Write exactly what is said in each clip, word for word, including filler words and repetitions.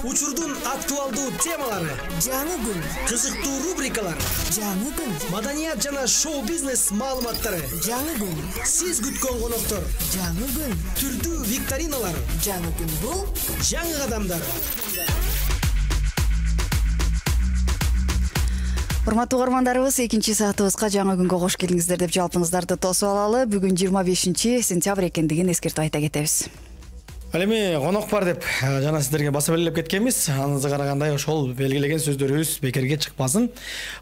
Учурдун актуалдуу темалары, жаңы күн, кызыктуу рубрикалар, жаңы күн, маданият жана шоу-бизнес маалыматтары, жаңы күн, сиз күткөн коноктор, жаңы күн, түрдүү викториналар, жаңы күн бул жаңы кадамдар. Урматтуу угармандарыбыз, экинчи саатыбызга жаңы күнгө кош келиңиздер деп жалпыңыздарды тосуп алалы. Бүгүн жыйырма бешинчи сентябрь экендигин эскертип айта кетебиз. Ал эми конок бар деп жана сиздерге баса белгилеп кеткенбиз. Аныңызга карагандай ошол белгилеген сөздөрүбүз бекерге чыкпасын.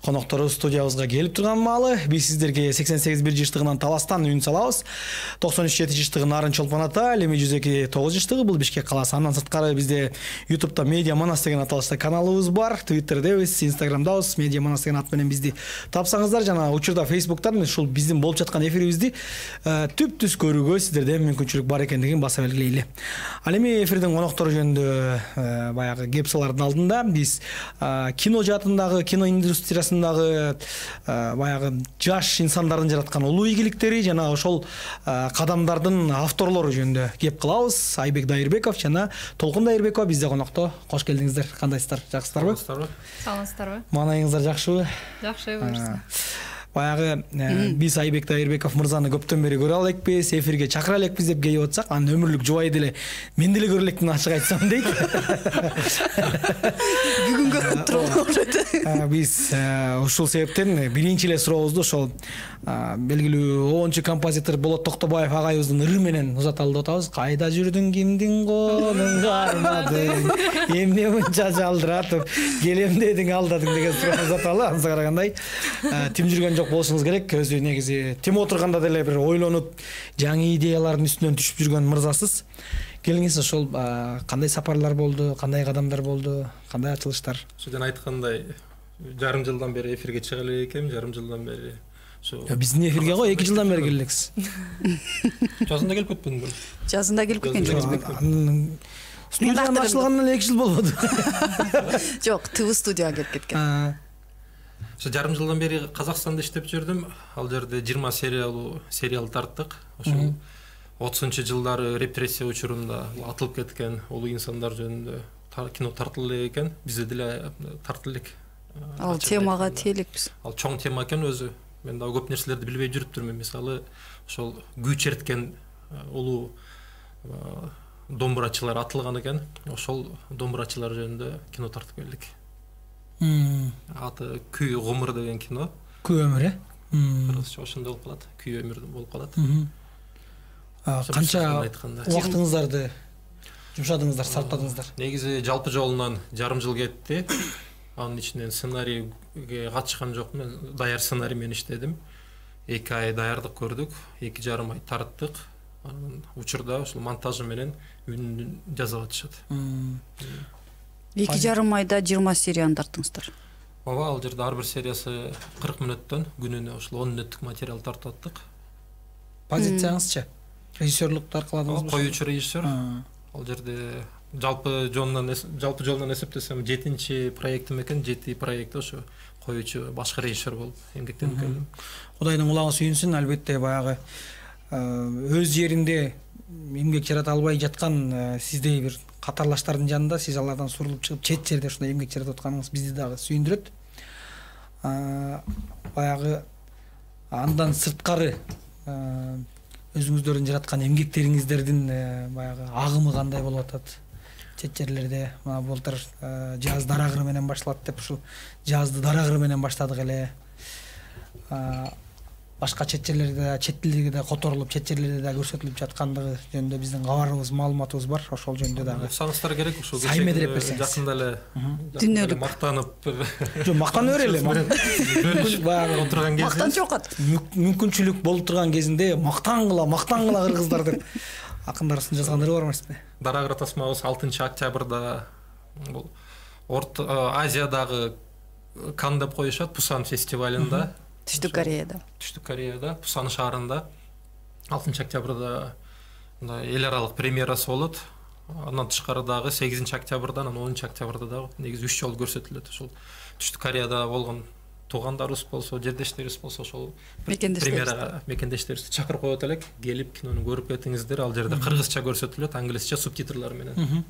Конокторубуз студиябызга келип турган маалы биз сиздерге сексен сегиз бир жыштыгынан Таластан үн салабыз. токсон үч жети жыштыгы Нарын Чолпон ата, ал эми жүз эки тогуз жыштыгы бул Бишкек калаасы. Андан сырткары бизде YouTube'да Медиа Манас деген аталышта каналыбыз бар. Twitter'дебиз, Instagram'дабыз, Медиа Манас деген ат менен бизди тапсаңыздар, жана учурда Facebook'тан ушул биздин болуп жаткан эфирибизди түп-түз көрүүгө сиздерден мүмкүнчүлүк бар экендигин баса белгилейли. Ал эми эфирдин коноктору жөнүндө баягы кеп салардын алдында биз кино жаатындагы, кино индустриясындагы баягы жаш инсандардын жараткан улуу ийгиликтери жана ошол кадамдардын авторлору жөнүндө кеп кылабыз. Айбек Дайырбеков жана Толкун Дайырбекова бизде конокто. Кош келдиңиздер. Кандайсыздар? Жакшысыздарбы? Саламатсыздарбы? Маанайыңыздар жакшыбы? Жакшы, буюрса. Баягы биз Айбек Дайырбеков мырзаны көптөн бери көрө алекпиз, эфирге чакыра элекпиз деп келип атсак, анын өмүрлүк жубайы деле мен деле көрө электин ачык айтсам дейт. Бүгүн көрүп турат. Биз ушул себептен биринчи эле сурообузду ошол белгилүү оончу композитор Болот Токтобаев агайыбыздын ыры менен узаталы деп атабыз. Кайда жүрдүң, кимдин колун кармадың, эмне мынча жалдыратып, келем дедиң, алдадың деген суроо узаталы. Анга карагандай тим жүргөн жок болушуңуз керек. Өзү негизи тим отурганда деле бир ойлонуп, жаңы идеялардын үстүнөн түшүп жүргөн мырзасыз. Келиңиз, ошол кандай сапарлар болду, кандай кадамдар болду, кандай ачылыштар? Ошодон айткандай, жарым жылдан бери эфирге чыга элек экенмин, жарым жылдан бери. Биздин эфирге го эки жылдан бери келелексиз. Жазында келип кетпедимби? Жазында келип кеткен. Студиянын ачылганына эле эки жыл болбоду. Жок, ТВ студияга келип кеткен. Ошо жарым жылдан бери Казакстанда иштеп жүрдүм. Ал жерде жыйырма сериалуу сериал тарттык. Ошол отузунчу жылдары репрессия учурунда атылып кеткен улуу инсандар жөнүндө кино тартылып элек экен. Бизде деле тартып элек. Ал темага тийелекпиз. Ал чоң тема экен өзү. Мен да көп нерселерди билбей жүрүптүрмүн. Мисалы, ошол күү черткен улуу домбурачылар атылган экен. Ошол домбурачылар жөнүндө кино тартып келдик. Аты Күй өмүр деген кино. Күй өмүр, э? Кыргызча ошондой болуп калат. Күй өмүр болуп калат. Канча убактыңыздарды жумшадыңыздар, сарптадыңыздар? Негизи жалпы жолунан жарым жыл кетти. Анын ичинен сценарийге катышкан жокмун. Мен даяр сценарий менен иштедим. эки ай даярдык көрдүк, эки жарым ай тарттык. Анан учурда ошол монтажы менен үнүн жазып атышат. эки жарым айда жыйырма серияны тарттыңыздар. Ооба, ал жерде ар бир сериясы кырк мүнөттөн, күнүнө ошол он мүнөттүк материал тартып аттык. Позицияңызчы? Режиссерлук таркаладыңызбы? Коюучу режиссер. Ал жерде жалпы жолунан жалпы жолунан эсептесем жетинчи проектим экен, жети проектте ошо коюучу башкы режиссер болуп эмгектенип келдим. Кудайдын кулагы сүйүнсүн, албетте баягы өз жеринде эмгек жарата албай жаткан сиздей бир катарлаштардын жанында сиз алардан сурулуп чыгып чет жерде ушундай эмгек жаратып атканыңыз бизди дагы сүйүндүрөт. Баягы андан сырткары өзүңүздөрдүн жараткан эмгектериңиздердин баягы агымы кандай болуп атат? Чет жерлерде былтыр жаз дарагыры менен башталат деп ушул жазды дарагыры менен баштадык эле. Башка чет жерлерде, чет тилдеги да которулуп, чет жерлерде да көрсөтүлүп жаткандыгы жөнүндө биздин кабарыбыз, маалыматыбыз бар. Ошол жөнүндө дагы уксаңыздар керек. Ушул сайметип берсеңиз. Жакында эле дүнөлүк мактанып, жок, мактана бер эле. Баягы отурган кезде мактанчу окат. Мүмкүнчүлүк болуп турган кезинде мактангыла, мактангыла кыргыздар деп акындарыбыздын жазгандарыбы бар эмеспи? Дарагыр тасмабыз алтынчы октябрда бул Орто Азиядагы Кан деп коюшат, Пусан фестивалында. Түштүк Кореяда. Түштүк Кореяда, Пусан шаарында алтынчы октябрда эл аралык премьерасы болот. Андан тышкары дагы сегизинчи октябрдан, анан онунчу октябрда дагы негизи үч жолу көрсөтүлөт. Ошол Түштүк Кореяда болгон туугандарыбыз болсо, жердештерибиз болсо, ошол премьерага мекендештерибизди чакырып коет элек. Келип кинону көрүп кетиңиздер. Ал жерде кыргызча көрсөтүлөт, англисче субтитрлар менен.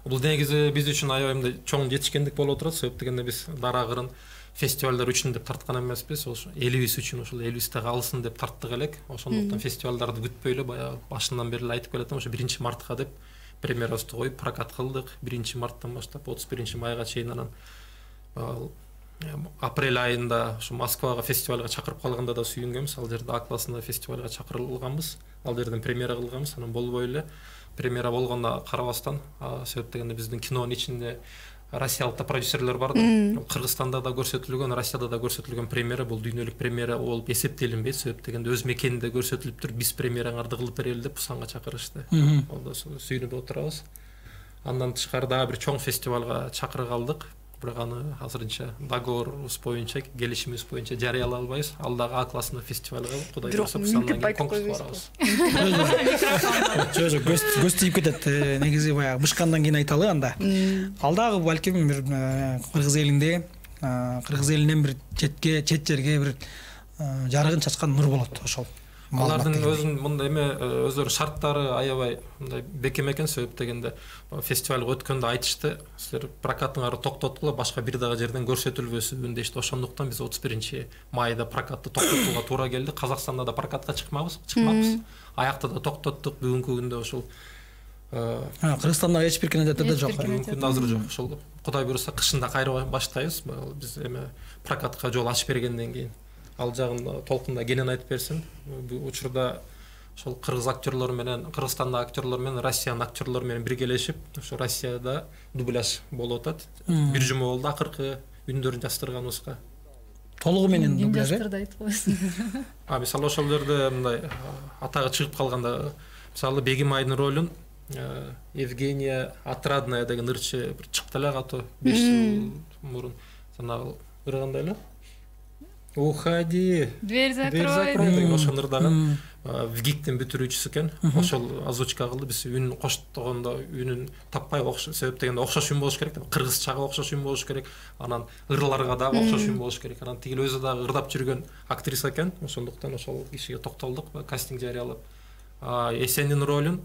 Бул негизи биз үчүн аябай мындай чоң жетишкендик болуп отурат. Себеп дегенде биз дараагырын фестивалдар үчүн деп тарткан эмеспиз. Ошо элибиз үчүн, ошол элибизде калсын деп тарттык элек. Ошондуктан фестивалдарды күтпөй эле баягы башынан бери эле айтып келатам, ошо биринчи мартка деп премьерабызды коюп прокат кылдык. биринчи марттан баштап отуз биринчи майга чейин, анан апрель айында ушу Москвага фестивалга чакырып калганда да сүйүнгөнбүз. Ал жерде А классында фестивалга чакырылганбыз. Ал жерден премьера кылганбыз. Анан болбой эле премьера болгонуна карабастан, себеп дегенде биздин кинонун ичинде россиялык да продюсерлер бар да. Кыргызстанда да көрсөтүлгөн, Россияда да көрсөтүлгөн премьера бул дүйнөлүк премьера болуп эсептелинбейт. Себеп дегенде өз мекенинде көрсөтүлүп туруп, биз премьераңарды кылып берели деп Пусанга чакырышты. Ол да сүйүнүп отурабыз. Андан тышкары дагы бир чоң фестивалга чакырып алдык. Бирок аны азырынча договорубуз боюнча, келишимибиз боюнча жарыялай албайбыз. Ал дагы А классында фестивалга Кудай буйрса Пусандан кийин конкурска барабыз. Жо жок, көз тийип кетет. Негизи баягы бышкандан кийин айталы анда. Ал дагы балким бир кыргыз элинде, кыргыз элинен бир четке, чет жерге бир жарыгын чачкан нур болот ошол. Алардын өзүнүн мындай эме өздөрүнүн шарттары аябай мындай бекем экен. Себеп дегенде фестивалга өткөндө айтышты, силер прокатыңарды токтоткула, башка бир дагы жерден көрсөтүлбөсүн дешти. Ошондуктан биз отуз биринчи майда прокатты токтотууга туура келди. Казакстанда да прокатка чыкмабыз, чыкмакпыз. Аякта да токтоттук. Бүгүнкү күндө ошол Кыргызстанда эч бир кинотеатрда жок. Бүгүнкү күндө азыр жок. Ошол Кудай буйрса кышында кайра баштайбыз. Биз эме прокатка жол ачып бергенден кийин. Ал жагын толкунда кенен айтып берсин. Бул учурда ошол кыргыз актерлор менен, Кыргызстандагы актерлор менен Россиянын актерлору менен биргелешип, ошо Россияда дубляж болуп атат. Бир жума болду акыркы үндөрүн жаздырганыбызга. Толугу менен дубляж. Жаштырды айтып койсун. А мисалы ошол жерде мындай атагы чыгып калганда, мисалы Бегим Айдын ролун Евгения Отрадная деген ырчы бир чыкты эле катуу беш жыл мурун. Жанагы ыргандай эле. Уходи. Дверь закрой. деген ошол ырдаган ВГИКтин бүтүрүүчүсү экен. Ошол озвучка кылды. Биз үнүн коштогондо үнүн таппай окшош, себеп дегенде окшош үн болуш керек. Кыргызчага окшош үн болуш керек. Анан ырларга дагы окшош үн болуш керек. Анан тигил өзү дагы ырдап жүргөн актриса экен. Ошондуктан ошол кишиге токтолдук, кастинг жарыялап. Эсендин ролун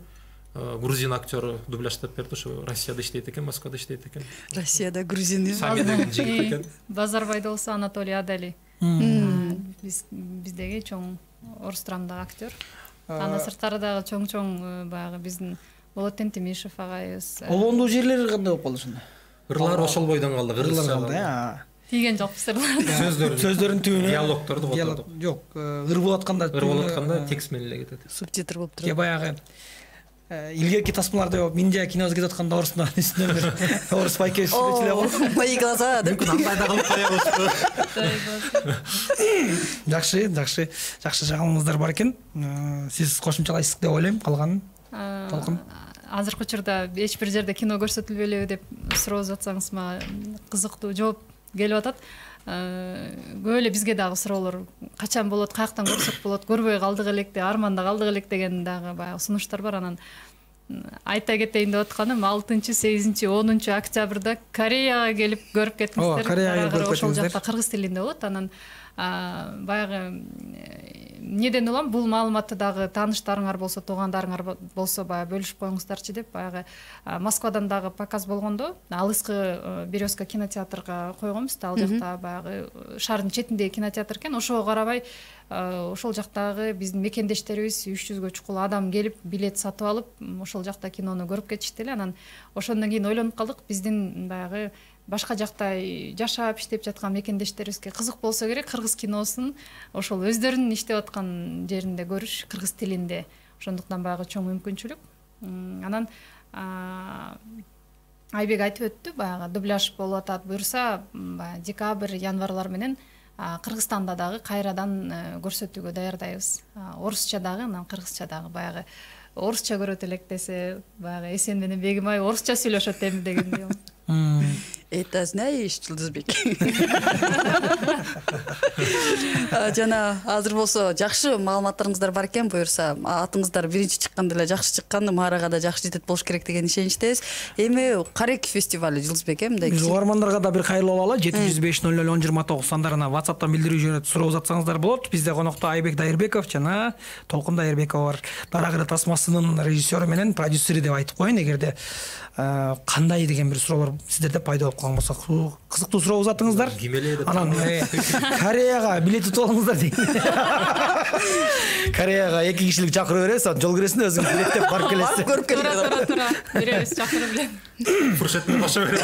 грузин актеру дубляждап берди. Ошо Россияда иштейт экен, Москвада иштейт экен. Россияда грузин Сами деген жигит экен. Базарбайда болсо Анатолий Адали. Биз биздеги чоң орус драмдагы актер. Андан сырткары дагы чоң-чоң баягы биздин Болот Тентимишев агайыбыз. Олондуу жерлери кандай болуп калды ошондо? Ырлар ошол бойдон калды, кыргызча. Тийген жокпуз ырлар. Сөздөрүн, сөздөрүн түбүнө диалогторду котордук. Жок, ыр болуп атканда, ыр болуп атканда текст менен эле кетет. Субтитр болуп Же турат. баягы илгерки тасмаларда Миндия киносы кетип атканда орустун үстүнөн бир орус байке сүйлөчү эле болот. Мои глаза деп. Андай да кылып коебуз. Жакшы, жакшы, жакшы жагымыңыздар бар экен. Сиз кошумчалайсыз деп ойлойм, калганын. Толкун. Азыркы учурда эч бир жерде кино көрсөтүлбөйлүбү деп сурооп атсаңыз, мага кызыктуу жооп келип атат. Көп эле бизге дагы суроолор качан болот, каяктан көрсөк болот, көрбөй калдык элек деп, арманда калдык элек деген дагы баягы сунуштар бар. Анан айта кетейин деп атканым, алтынчы, сегизинчи, онунчу октябрда Кореяга келип көрүп кетиңиздер. Кореяга көрүп ошол кетиңиздер. жакта кыргыз тилинде болот. Анан баягы эмнеден улам бул маалыматты дагы тааныштарыңар болсо, туугандарыңар болсо баягы бөлүшүп коюңуздарчы деп, баягы Москвадан дагы показ болгондо Алыскы Березка кинотеатрга койгонбуз да. Ал жакта баягы шаардын четиндеги кинотеатр экен. Ошого карабай ошол жактагы биздин мекендештерибиз үч жүзгө чукул адам келип билет сатып алып, ошол жакта кинону көрүп кетишти эле. Анан ошондон кийин ойлонуп калдык, биздин баягы башка жакта жашап иштеп жаткан мекендештерибизге кызык болсо керек кыргыз киносун ошол өздөрүнүн иштеп аткан жеринде көрүш, кыргыз тилинде. Ошондуктан баягы чоң мүмкүнчүлүк. Анан Айбек айтып өттү, баягы дубляж болуп атат. Буюрса, декабрь, январлар менен Кыргызстанда дагы кайрадан көрсөтүүгө даярдайбыз. Орусча дагы, анан кыргызча дагы. Баягы орусча көрөт элек десе, баягы Эсен менен Бегим ай орусча сүйлөшөт эми дегендей. Это Ты знаешь, Жылдызбек. Жана азыр болсо жакшы маалыматтарыңыздар бар экен, буюрса атыңыздар биринчи чыкканда эле жакшы чыккан, маарага да жакшы жетет болуш керек деген ишеничтебиз. Эми Карек фестивалю Жылдызбек э мындай. Биз угармандарга да бир кайрылып алалы. жети жүз беш ноль ноль он жыйырма тогуз сандарына WhatsApp'тан билдирүү жөнүндө суроо узатсаңыздар болот. Бизде конокто Айбек Дайырбеков жана Толкун Дайырбекова бар. Дарак эле тасмасынын режиссеру менен продюсери деп айтып коеюн, эгерде кандай деген бир суроолор сиздерде пайда болуп калган болсо, кызыктуу суроо узатыңыздар. Анан Кореяга билет утуп алыңыздар дейт. Кореяга эки кишилик чакырып беребиз, жол киресине өзүңүз билеттеп барып келесиз. Көрүп Тура тура тура беребиз, чакырып эле. Фуршеттин баша беребиз.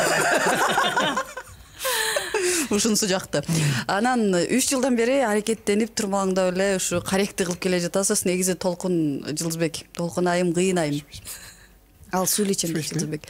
Ушунусу жакты. Анан үч жылдан бери аракеттенип турмалаңдап эле ушу Каректи кылып келе жатасыз. Негизи Толкун Жылдызбек, Толкун айым, кыйын айым. Ал сүйлөйчүн Жылдызбек.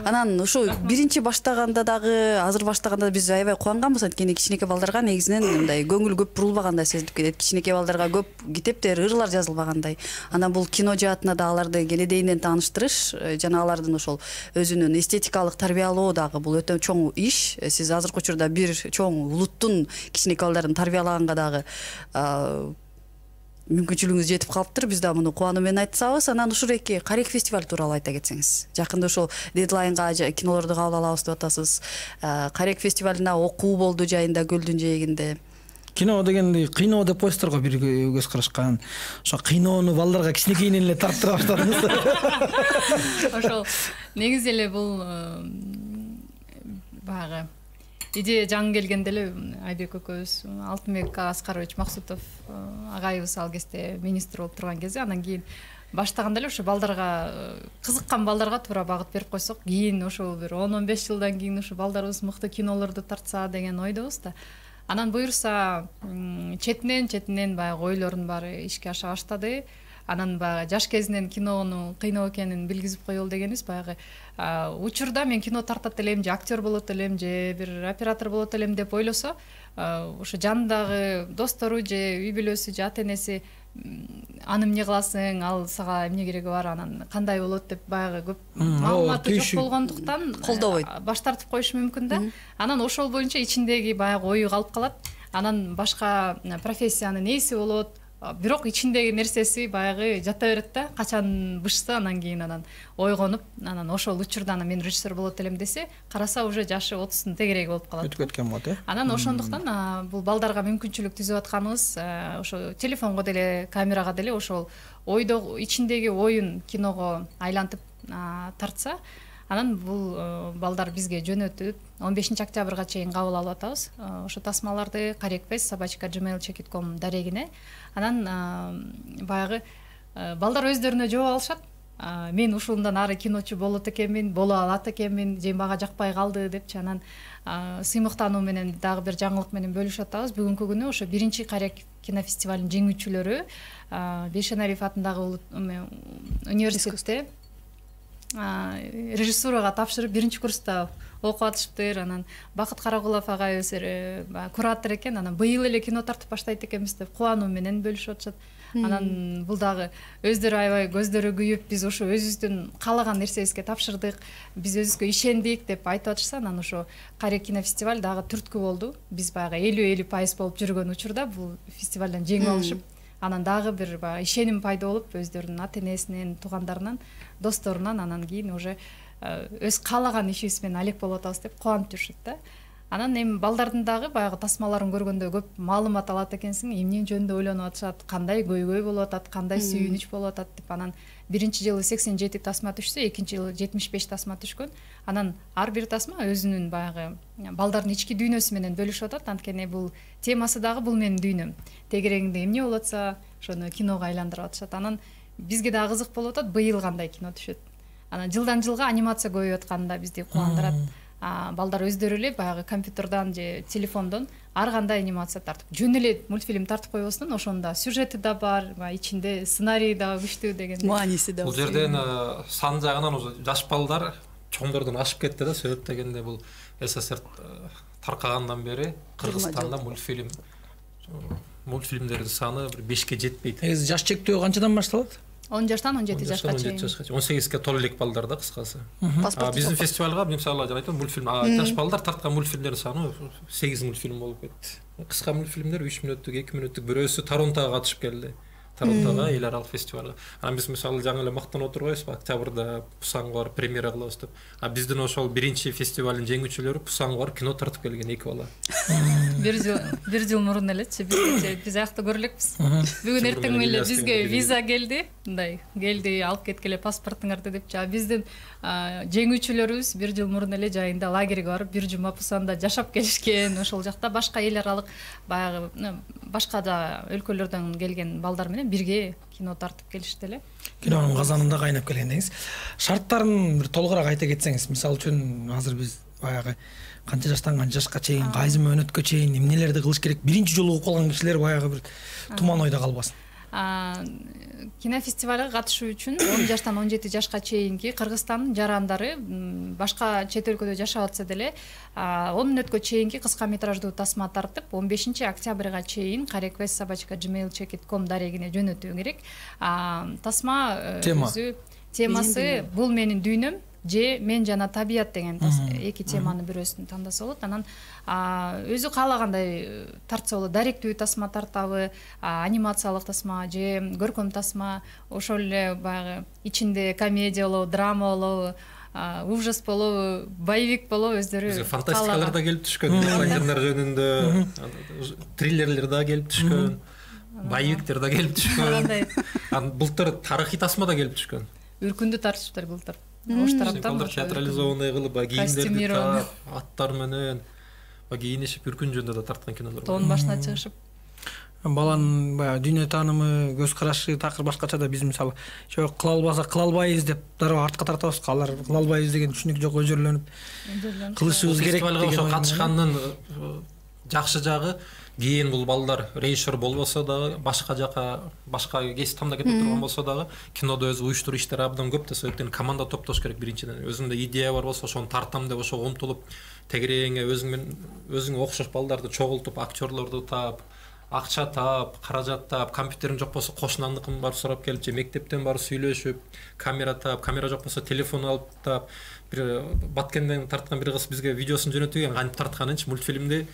Анан ушу биринчи баштаганда дагы, азыр баштаганда биз аябай кубанганбыз, анткени кичинекей балдарга негизинен мындай көңүл көп бурулбагандай сезилип кетет. Кичинекей балдарга көп китептер, ырлар жазылбагандай. Анан бул кино жаатына да аларды кенедейинен тааныштырыш жана алардын ошол өзүнүн эстетикалык тарбиялоо дагы бул өтө чоң иш. Сиз азыркы учурда бир чоң улуттун кичинекей балдарын тарбиялаганга дагы мүмкүнчүлүгүңүз жетип калыптыр. Биз да муну кубануу менен айтсабыз. Анан ушул эки Карек фестиваль тууралуу айта кетсеңиз. Жакында ошол дедлайнга кинолорду кабыл алабыз деп атасыз. Карек фестивалына окуу болду жайында көлдүн жээгинде. Кино дегенди кыйноо деп коесуздар го, бир көз карашкан. Ошо кыйноону балдарга кичинекейинен эле тарттыра баштадыңыз. Ошол негизи эле бул баягы идея жаңы келгенде эле Айбек экөөбүз, Алтынбек Аскарович Максутов агайыбыз ал кезде министр болуп турган кезде, анан кийин баштаганда эле ошо балдарга, кызыккан балдарга туура багыт берип койсок, кийин ошол бир он он беш жылдан кийин ушу балдарыбыз мыкты кинолорду тартса деген ойдобуз да. Анан буюрса четинен четинен баягы ойлордун баары ишке аша баштады. Анан баягы жаш кезинен кинону кыйноо экенин билгизип коелу дегенибиз. Баягы учурда мен кино тартат элем, же актер болот элем, же бир оператор болот элем деп ойлосо, ошо жанындагы достору же үй бүлөсү же ата энеси аны эмне кыласың, ал сага эмне кереги бар, анан кандай болот деп баягы көп маалыматы жок болгондуктан колдобойт, баш тартып коюшу мүмкүн да. Анан ошол боюнча ичиндеги баягы ою калып калат. Анан башка профессиянын ээси болот, бирок ичиндеги нерсеси баягы жата берет да. Качан бышса, анан кийин анан ойгонуп, анан ошол учурда мен режиссер болот элем десе, караса уже жашы отуздун тегереги болуп калат. Өтүп кеткен болот э. Анан ошондуктан бул балдарга мүмкүнчүлүк түзүп атканыбыз ошо телефонго деле, камерага деле ошол ойдо ичиндеги оюн киного айлантып тартса, анан бул балдар бизге жөнөтүп он бешинчи октябрга чейин кабыл алып атабыз. Ошо тасмаларды карекфест собачка джимейл чекит ком дарегине. Анан баягы балдар өздөрүнө жооп алышат. Мен ушундан ары киночу болот экенмин, боло алат экенмин, же мага жакпай калды депчи. Анан сыймыктануу менен дагы бир жаңылык менен бөлүшүп атабыз. Бүгүнкү күнү ошо биринчи Карек кинофестивалынын жеңүүчүлөрү Бейшенариев атындагы университетте режиссурага тапшырып биринчи курста окуп атышыптыр. Анан Бакыт Карагулов агайыбыз куратор экен. Анан быйыл эле кино тартып баштайт экенбиз деп кубануу менен бөлүшүп атышат. Анан бул дагы өздөрү аябай көздөрү күйүп, биз ошо өзүбүздүн каалаган нерсебизге тапшырдык, биз өзүбүзгө ишендик деп айтып атышса, анан ошо Карек кинофестиваль дагы түрткү болду. Биз баягы элүү элүү пайыз болуп жүргөн учурда бул фестивалдан жеңип алышып, анан дагы бир баягы ишеним пайда болуп, өздөрүнүн ата энесинен, туугандарынан, досторунан анан кийин уже өз каалаган ишибиз менен алек болуп атабыз деп кубанып жүрүшөт да. Анан эми балдардын дагы баягы тасмаларын көргөндө көп маалымат алат экенсиң, эмне жөнүндө ойлонуп атышат, кандай көйгөй болуп атат, кандай сүйүнүч болуп атат деп. Анан биринчи жылы сексен жети тасма түшсө, экинчи жылы жетимиш беш тасма түшкөн. Анан ар бир тасма өзүнүн баягы балдардын ички дүйнөсү менен бөлүшүп атат. Анткени бул темасы дагы бул менин дүйнөм. Тегерегинде эмне болуп атса, ошону киного айландырып атышат. Анан бизге дагы кызык болуп атат, быйыл кандай кино түшөт. Анан жылдан жылга анимация көбөйүп атканда бизди кубандырат. Балдар өздөрү эле баягы компьютердон же телефондон ар кандай анимация тартып, жөн эле мультфильм тартып койбостон, ошондо сюжети да бар, ичинде сценарий да күчтүү деген. Мааниси да. Бул жерден сан жагынан жаш балдар чоңдордон ашып кетти да. Себеп дегенде бул СССР таркагандан бери Кыргызстанда мультфильм мультфильмдердин саны бир бешке жетпейт. Жаш чектөө канчадан башталат? он жаштан он жети он жашка чейин. он сегизге толо элек балдар да кыскасы. Паспорт Биздин фестивалга мисалы айтам мультфильм жаш балдар тарткан мультфильмдердин саны сегиз мультфильм болуп кетти. Кыска мультфильмдер үч мүнөттүк, эки мүнөттүк, бирөөсү Торонтого катышып келди. Торонтого эл аралык фестивалга. Анан биз мисалы жаңы эле мактанып отурбайбызбы? Октябрда Пусанга барып премьера кылабыз деп. А биздин ошол биринчи фестивалдын жеңүүчүлөрү Пусанга барып кино тартып келген эки бала. Бир жыл бир жыл мурун элечи бизче биз аякта көрө элекпиз. Бүгүн эртең эле бизге виза келди, мындай келди, алып кеткеле паспортуңарды депчи. А биздин жеңүүчүлөрүбүз бир жыл мурун эле жайында лагерге барып бир жума Пусанда жашап келишкен. Ошол жакта башка эл аралык баягы башка да өлкөлөрдөн келген балдар менен бирге кино тартып келишти эле. Кинонун казанында кайнап келген деңиз. Шарттарын бир толугураак айта кетсеңиз, мисалы үчүн азыр биз баягы канча жаштан канча жашка чейин, кайсы мөөнөткө чейин эмнелерди кылыш керек, биринчи жолу угуп калган кишилер баягы бир туман ойдо калбасын. Кинофестивалга катышуу үчүн он жаштан он жети жашка чейинки Кыргызстандын жарандары башка чет өлкөдө жашап атса деле он мүнөткө чейинки кыска метраждуу тасма тартып он бешинчи октябрга чейин кареквест собачка джимейл чекит ком дарегине жөнөтүү керек. Тасма өзү темасы бул менин дүйнөм же мен жана табият деген эки теманын бирөөсүн тандаса болот. Анан өзү каалагандай тартса болот. Даректүү тасма тартабы, анимациялык тасма же көркөм тасма, ошол эле баягы ичинде комедия болобу, драма болобу, ужас болобу, боевик болобу, өздөрү фантастикалар да келип түшкөн. Жандар жөнүндө триллерлер да келип түшкөн. Боевиктер да келип түшкөн. Анан былтыр тарыхый тасма да келип түшкөн. Үркүндү тартышыптыр былтыр. Ош тараптан театрализованный кылып, кийимдерди таап, аттар менен кийинишип үркүн жөнүндө да тарткан кинолор. Тоонун башына чыгышып. Баланын баягы дүйнө таанымы, көз карашы такыр башкача да биз мисалы жок кыла албасак кыла албайбыз деп дароо артка тартабыз. Алар кыла албайбыз деген түшүнүк жок, өжөрлөнүп кылышыбыз керек деген. Фестивалга ошо катышкандын жакшы жагы кийин бул балдар режиссер болбосо дагы, башка жака башка кесип тандап кете турган болсо дагы кинодо өзү уюштуруу иштери абдан көп да, себептен команда топтош керек биринчиден. Өзүндө идея бар болсо ошону тартам деп ошого умтулуп, тегереңе өзүң менен өзүңө окшош балдарды чогултуп, актерлорду таап, акча таап, каражат таап, компьютериң жок болсо кошунандыкын барып сурап келип же мектептен барып сүйлөшүп, камера таап, камера жок болсо телефон алып таап, бир Баткенден тарткан бир кыз бизге видеосун жөнөтүп, кантип тартканынчы мультфильмди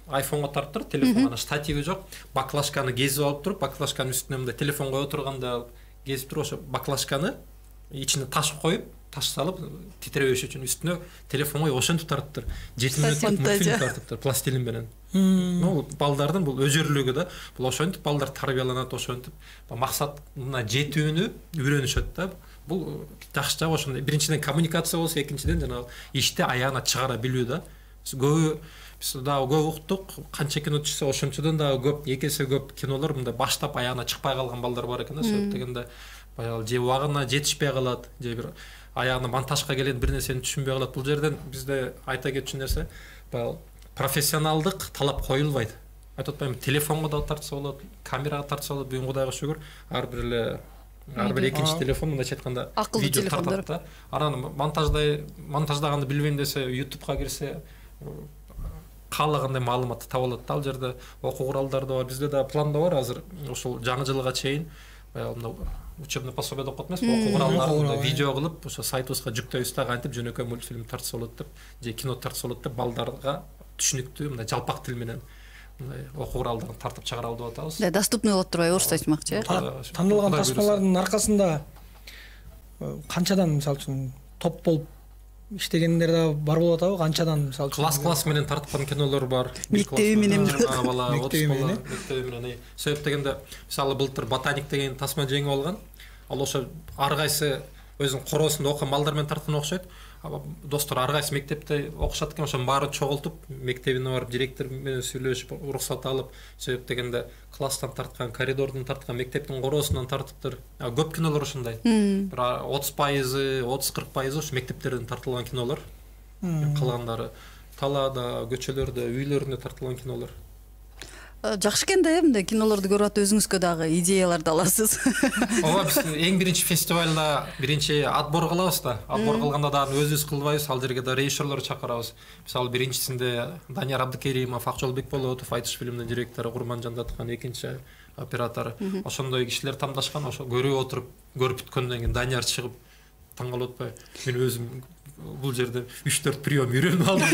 айфонго тарттыр, телефонго штативи жок, баклажканы кезип алып туруп, баклажканын үстүнө мындай телефон коюп турганда кезип туруп, ошо баклажканы ичине таш коюп, таш салып титиребеш үчүн үстүнө телефон коюп ошентип тарттыр. жети мүнөттүк мультфильм тарттыр пластилин менен. Ну, балдардын бул өжөрлүгү да, бул ошентип балдар тарбияланат, ошентип максатына жетүүнү үйрөнүшөт да. Бул жакшы жагы ошондой. Биринчиден коммуникация болсо, экинчиден жанагы ишти аягына чыгара билүү да. Көбү биз дагы көп уктук, канча кино түшсө ошончодон дагы көп, эки эсе көп кинолор мындай баштап аягына чыкпай калган балдар бар экен да, себеп дегенде баягы же убагына жетишпей калат, же бир аягына монтажга келген бир нерсени түшүнбөй калат. Бул жерден бизде айта кетчү нерсе, баягы профессионалдык талап коюлбайт. Айтып атпаймынбы, телефонго да тартса болот, камерага тартса болот. Бүгүн Кудайга шүгүр, ар бир эле ар бир экинчи телефон мындайча айтканда видео тартат да. Анан монтаждай монтаждаганды билбейм десе, ютубка кирсе каалагандай маалыматты таба алат да. Ал жерде окуу куралдары да бар. Бизде да планда бар азыр ошол жаңы жылга чейин баягы учебный пособие деп коет эмеспи, окуу куралдарын видео кылып ошо сайтыбызга жүктөйбүз да, кантип жөнөкөй мультфильм тартса болот деп, же кино тартса болот деп балдарга түшүнүктүү мындай жалпак тил менен мындай окуу куралдарын тартып чыгара алып атабыз. Да, доступный болот турбайбы, орусча айтмакчы. Тандалган тасмалардын аркасында канчадан мисалы үчүн топ болуп иштегендер да бар болуп атабы? Канчадан мисалы үчүн класс-класс менен тарткан кинолор бар. Мектеби менен бала, отуз бала мектеби менен. Себеп дегенде мисалы былтыр ботаник деген тасма жеңип алган. Ал ошо ар кайсы өзүнүн короосунда окуган балдар менен тарткан окшойт. Достор ар кайсы мектепте окушат экен, ошонун баарын чогултуп, мектебине барып директор менен сүйлөшүп, уруксат алып, себеп дегенде класстан тарткан, коридордон тарткан, мектептин короосунан тартыптыр. Көп кинолор ушундай. Бир отуз пайызы, отуз кырк пайызы ушу мектептерден тартылган кинолор. Калгандары талаада, көчөлөрдө, үйлөрүндө тартылган кинолор. Жакшы экен да, мындай кинолорду көрүп атып өзүңүзгө дагы идеяларды аласыз. Ооба, биз эң биринчи фестивалда биринчи отбор кылабыз да. Отбор кылганда дагы өзүбүз кылбайбыз, ал жерге да режиссерлор чакырабыз. Мисалы биринчисинде Данияр Абдыкеримов, Акжол Бекболотов, Айтыш фильминин директору Курманжан Даткан, экинчи оператору. Ошондой кишилер тандашкан, ошо көрүп отуруп, көрүп бүткөндөн кийин Данияр чыгып таңкалып атпайбы? Мен өзүм бул жерде үч төрт прием үйрөнүп алдым.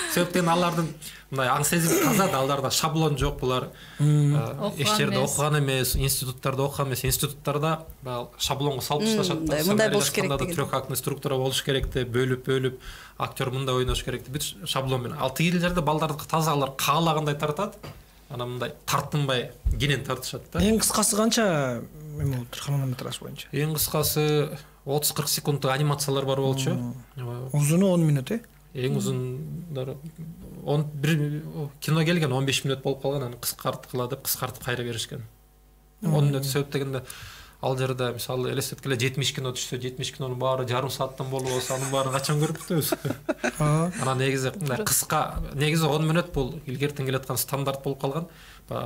Себептен алардын мындай аң сезим таза да, аларда шаблон жок, булар эч жерде окуган эмес, институттарда окуган эмес, институттарда баягы шаблонго салып ташташат да. Мындай болуш керек деген. Трехактный структура болуш керек деп, бөлүп-бөлүп, актер мындай ойнош керек деп, бүт шаблон менен. Ал тиги жерде балдарды таза алар каалагандай тартат. Анан мындай тартынбай кенен тартышат да. Эң кыскасы канча эме болуптур хронометраж боюнча? Эң кыскасы отуз кырк секунддук анимациялар бар болчу. Узуну он мүнөт э? Эң узундары он бир кино келген он беш мүнөт болуп калган, аны кыскарткыла деп кыскартып кайра беришкен. он мүнөт себеп дегенде ал жерде мисалы элестеткиле жетимиш кино түшсө, жетимиш кинонун баары жарым сааттан болуп болсо, анын баарын качан көрүп бүтөбүз? Анан негизи мындай кыска, негизи он мүнөт бул илгертен келаткан стандарт болуп калган.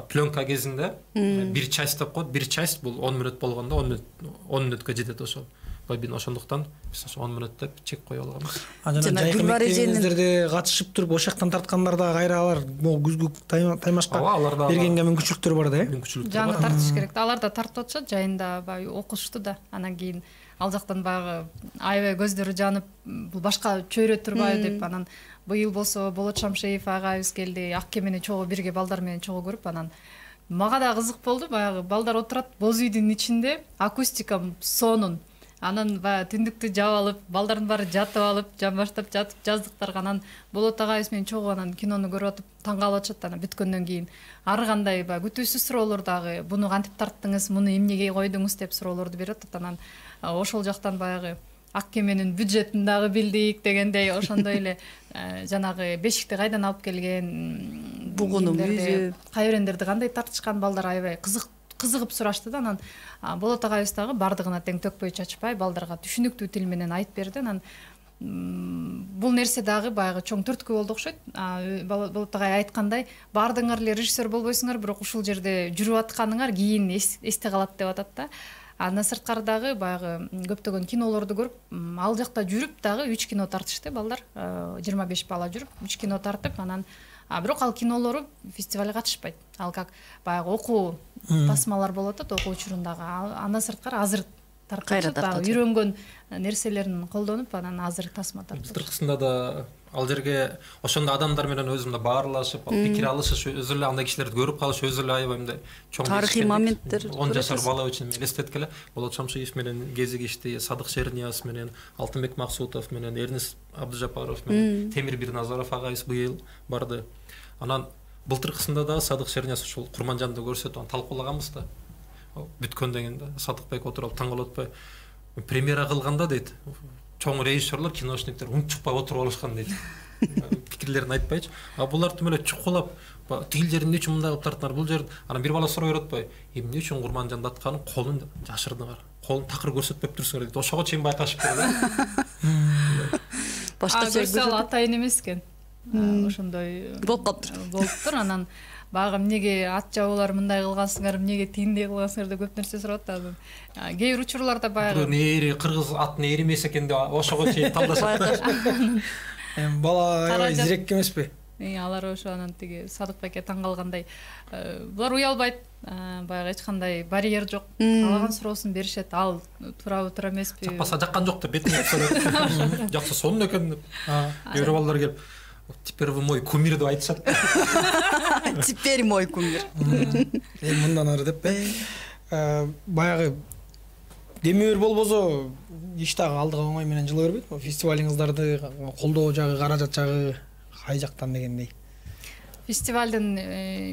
Пленка кезинде бир часть деп коет, бир часть бул он мүнөт болгондо он мүнөт он мүнөткө жетет ошол. Бабин ошондуктан биз он мүнөт деп чек коюп алганбыз. Жана жайкы мектебиңиздерде катышып туруп ошол жактан тарткандар да кайра алар могу күзгү таймашка бергенге мүмкүнчүлүктөр бар да э? Мүмкүнчүлүктөр бар. Жана тартыш керек. Алар да тартып атышат, жайында баягы окушту да. Анан кийин ал жактан баягы аябай көздөрү жанып, бул башка чөйрө турбайбы деп, анан быйыл болсо Болот Шамшеев агайыбыз келди, ак кемени чогуу бирге балдар менен чогуу көрүп, анан мага да кызык болду. Баягы балдар отурат боз үйдүн ичинде, акустика сонун. Анан баягы түндүктү жаап алып, балдардын баары жатып алып, жан баштап жатып жаздыктарга, анан Болот агайыбыз менен чогуу анан кинону көрүп атып таң калып атышат. Анан бүткөндөн кийин ары кандай баягы күтүүсүз суроолор дагы, буну кантип тарттыңыз, муну эмнеге койдуңуз деп суроолорду берип атат. Анан ошол жактан баягы ак кеменин бюджетин дагы билдик дегендей, ошондой эле жанагы бешикти кайдан алып келген, бугуну мүзү, кайрендерди кандай тартышкан, балдар аябай кызык кызыгып сурашты да. Анан Болот агайыбыз дагы бардыгына тең төкпөй чачпай балдарга түшүнүктүү тил менен айтып берди. Анан бул нерсе дагы баягы чоң түрткү болду окшойт. Болот агай айткандай, баардыгыңар эле режиссер болбойсуңар, бирок ушул жерде жүрүп атканыңар кийин эсте калат деп атат да. Андан сырткары дагы баягы көптөгөн кинолорду көрүп, ал жакта жүрүп дагы үч кино тартышты балдар, жыйырма беш бала жүрүп үч кино тартып, анан бирок ал кинолору фестивалга катышпайт. Ал как баягы окуу тасмалар болот да, окуу учурундагы. Андан сырткары азыр тартып, үйрөнгөн нерселерин колдонуп, анан азыр тасма тартып. Былтыркысында да ал жерге ошондой адамдар менен өзүм да баарлашып, пикир алышыш, өзү эле андай кишилерди көрүп калыш, өзү эле аябай мындай чоң тарыхый моменттер. он жашар бала үчүн элестеткеле. Болот Шамшиев менен кезигишти, Садык Шернияз менен, Алтынбек Максутов менен, Эрнис Абдыжапаров менен, Темир Бирназаров агайыбыз быйыл барды. Анан былтыркысында да Садык Шернияз ушул Курманжанды көрсөтүп анан талкуулаганбыз да. Бүткөндөн кийин Садыкбек отуруп таң калып атпай, премьера кылганда дейт, чоң режиссерлор, киношниктер унчукпай отуруп алышкан дейт. Пикирлерин айтпайчы. А булар тим эле чукулап, тигил жерин эмне үчүн мындай кылып тарттыңар, бул жер. Анан бир бала сурап берип атпай, эмне үчүн Курманжанды атканын колун жашырдыңар, колун такыр көрсөтпөп турсуңар дейт. Ошого чейин байкашып берди. Башкача көрсөтүп атайын эмес экен. Ошондой болуп калыптыр. Болуптур. Анан баягы эмнеге ат жабуулар мындай кылгансыңар, эмнеге тигиндей кылгансыңар деп көп нерсе сурап атат. Кээ бир учурларда баягы нээри кыргыз атын ээри эмес экен деп ошого чейин талдашат. Эми бала аябай зирек эмеспи? Алар ошо анан тиги Садыкбекке таң калгандай, булар уялбайт, баягы эч кандай барьер жок. Каалаган суроосун беришет. Ал туурабы туура эмеспи? Жакпаса жаккан жок деп бетине сурап. Жакса сонун экен деп. Бир балдар келип, теперь вы мой кумир деп айтышат. Теперь мой кумир. Эми мындан ары деп э баягы демир болбосо иш дагы алдыга оңой менен жыла бербейт. Фестивалиңиздарды колдоо жагы, каражат жагы кай жактан дегендей. Фестивалдын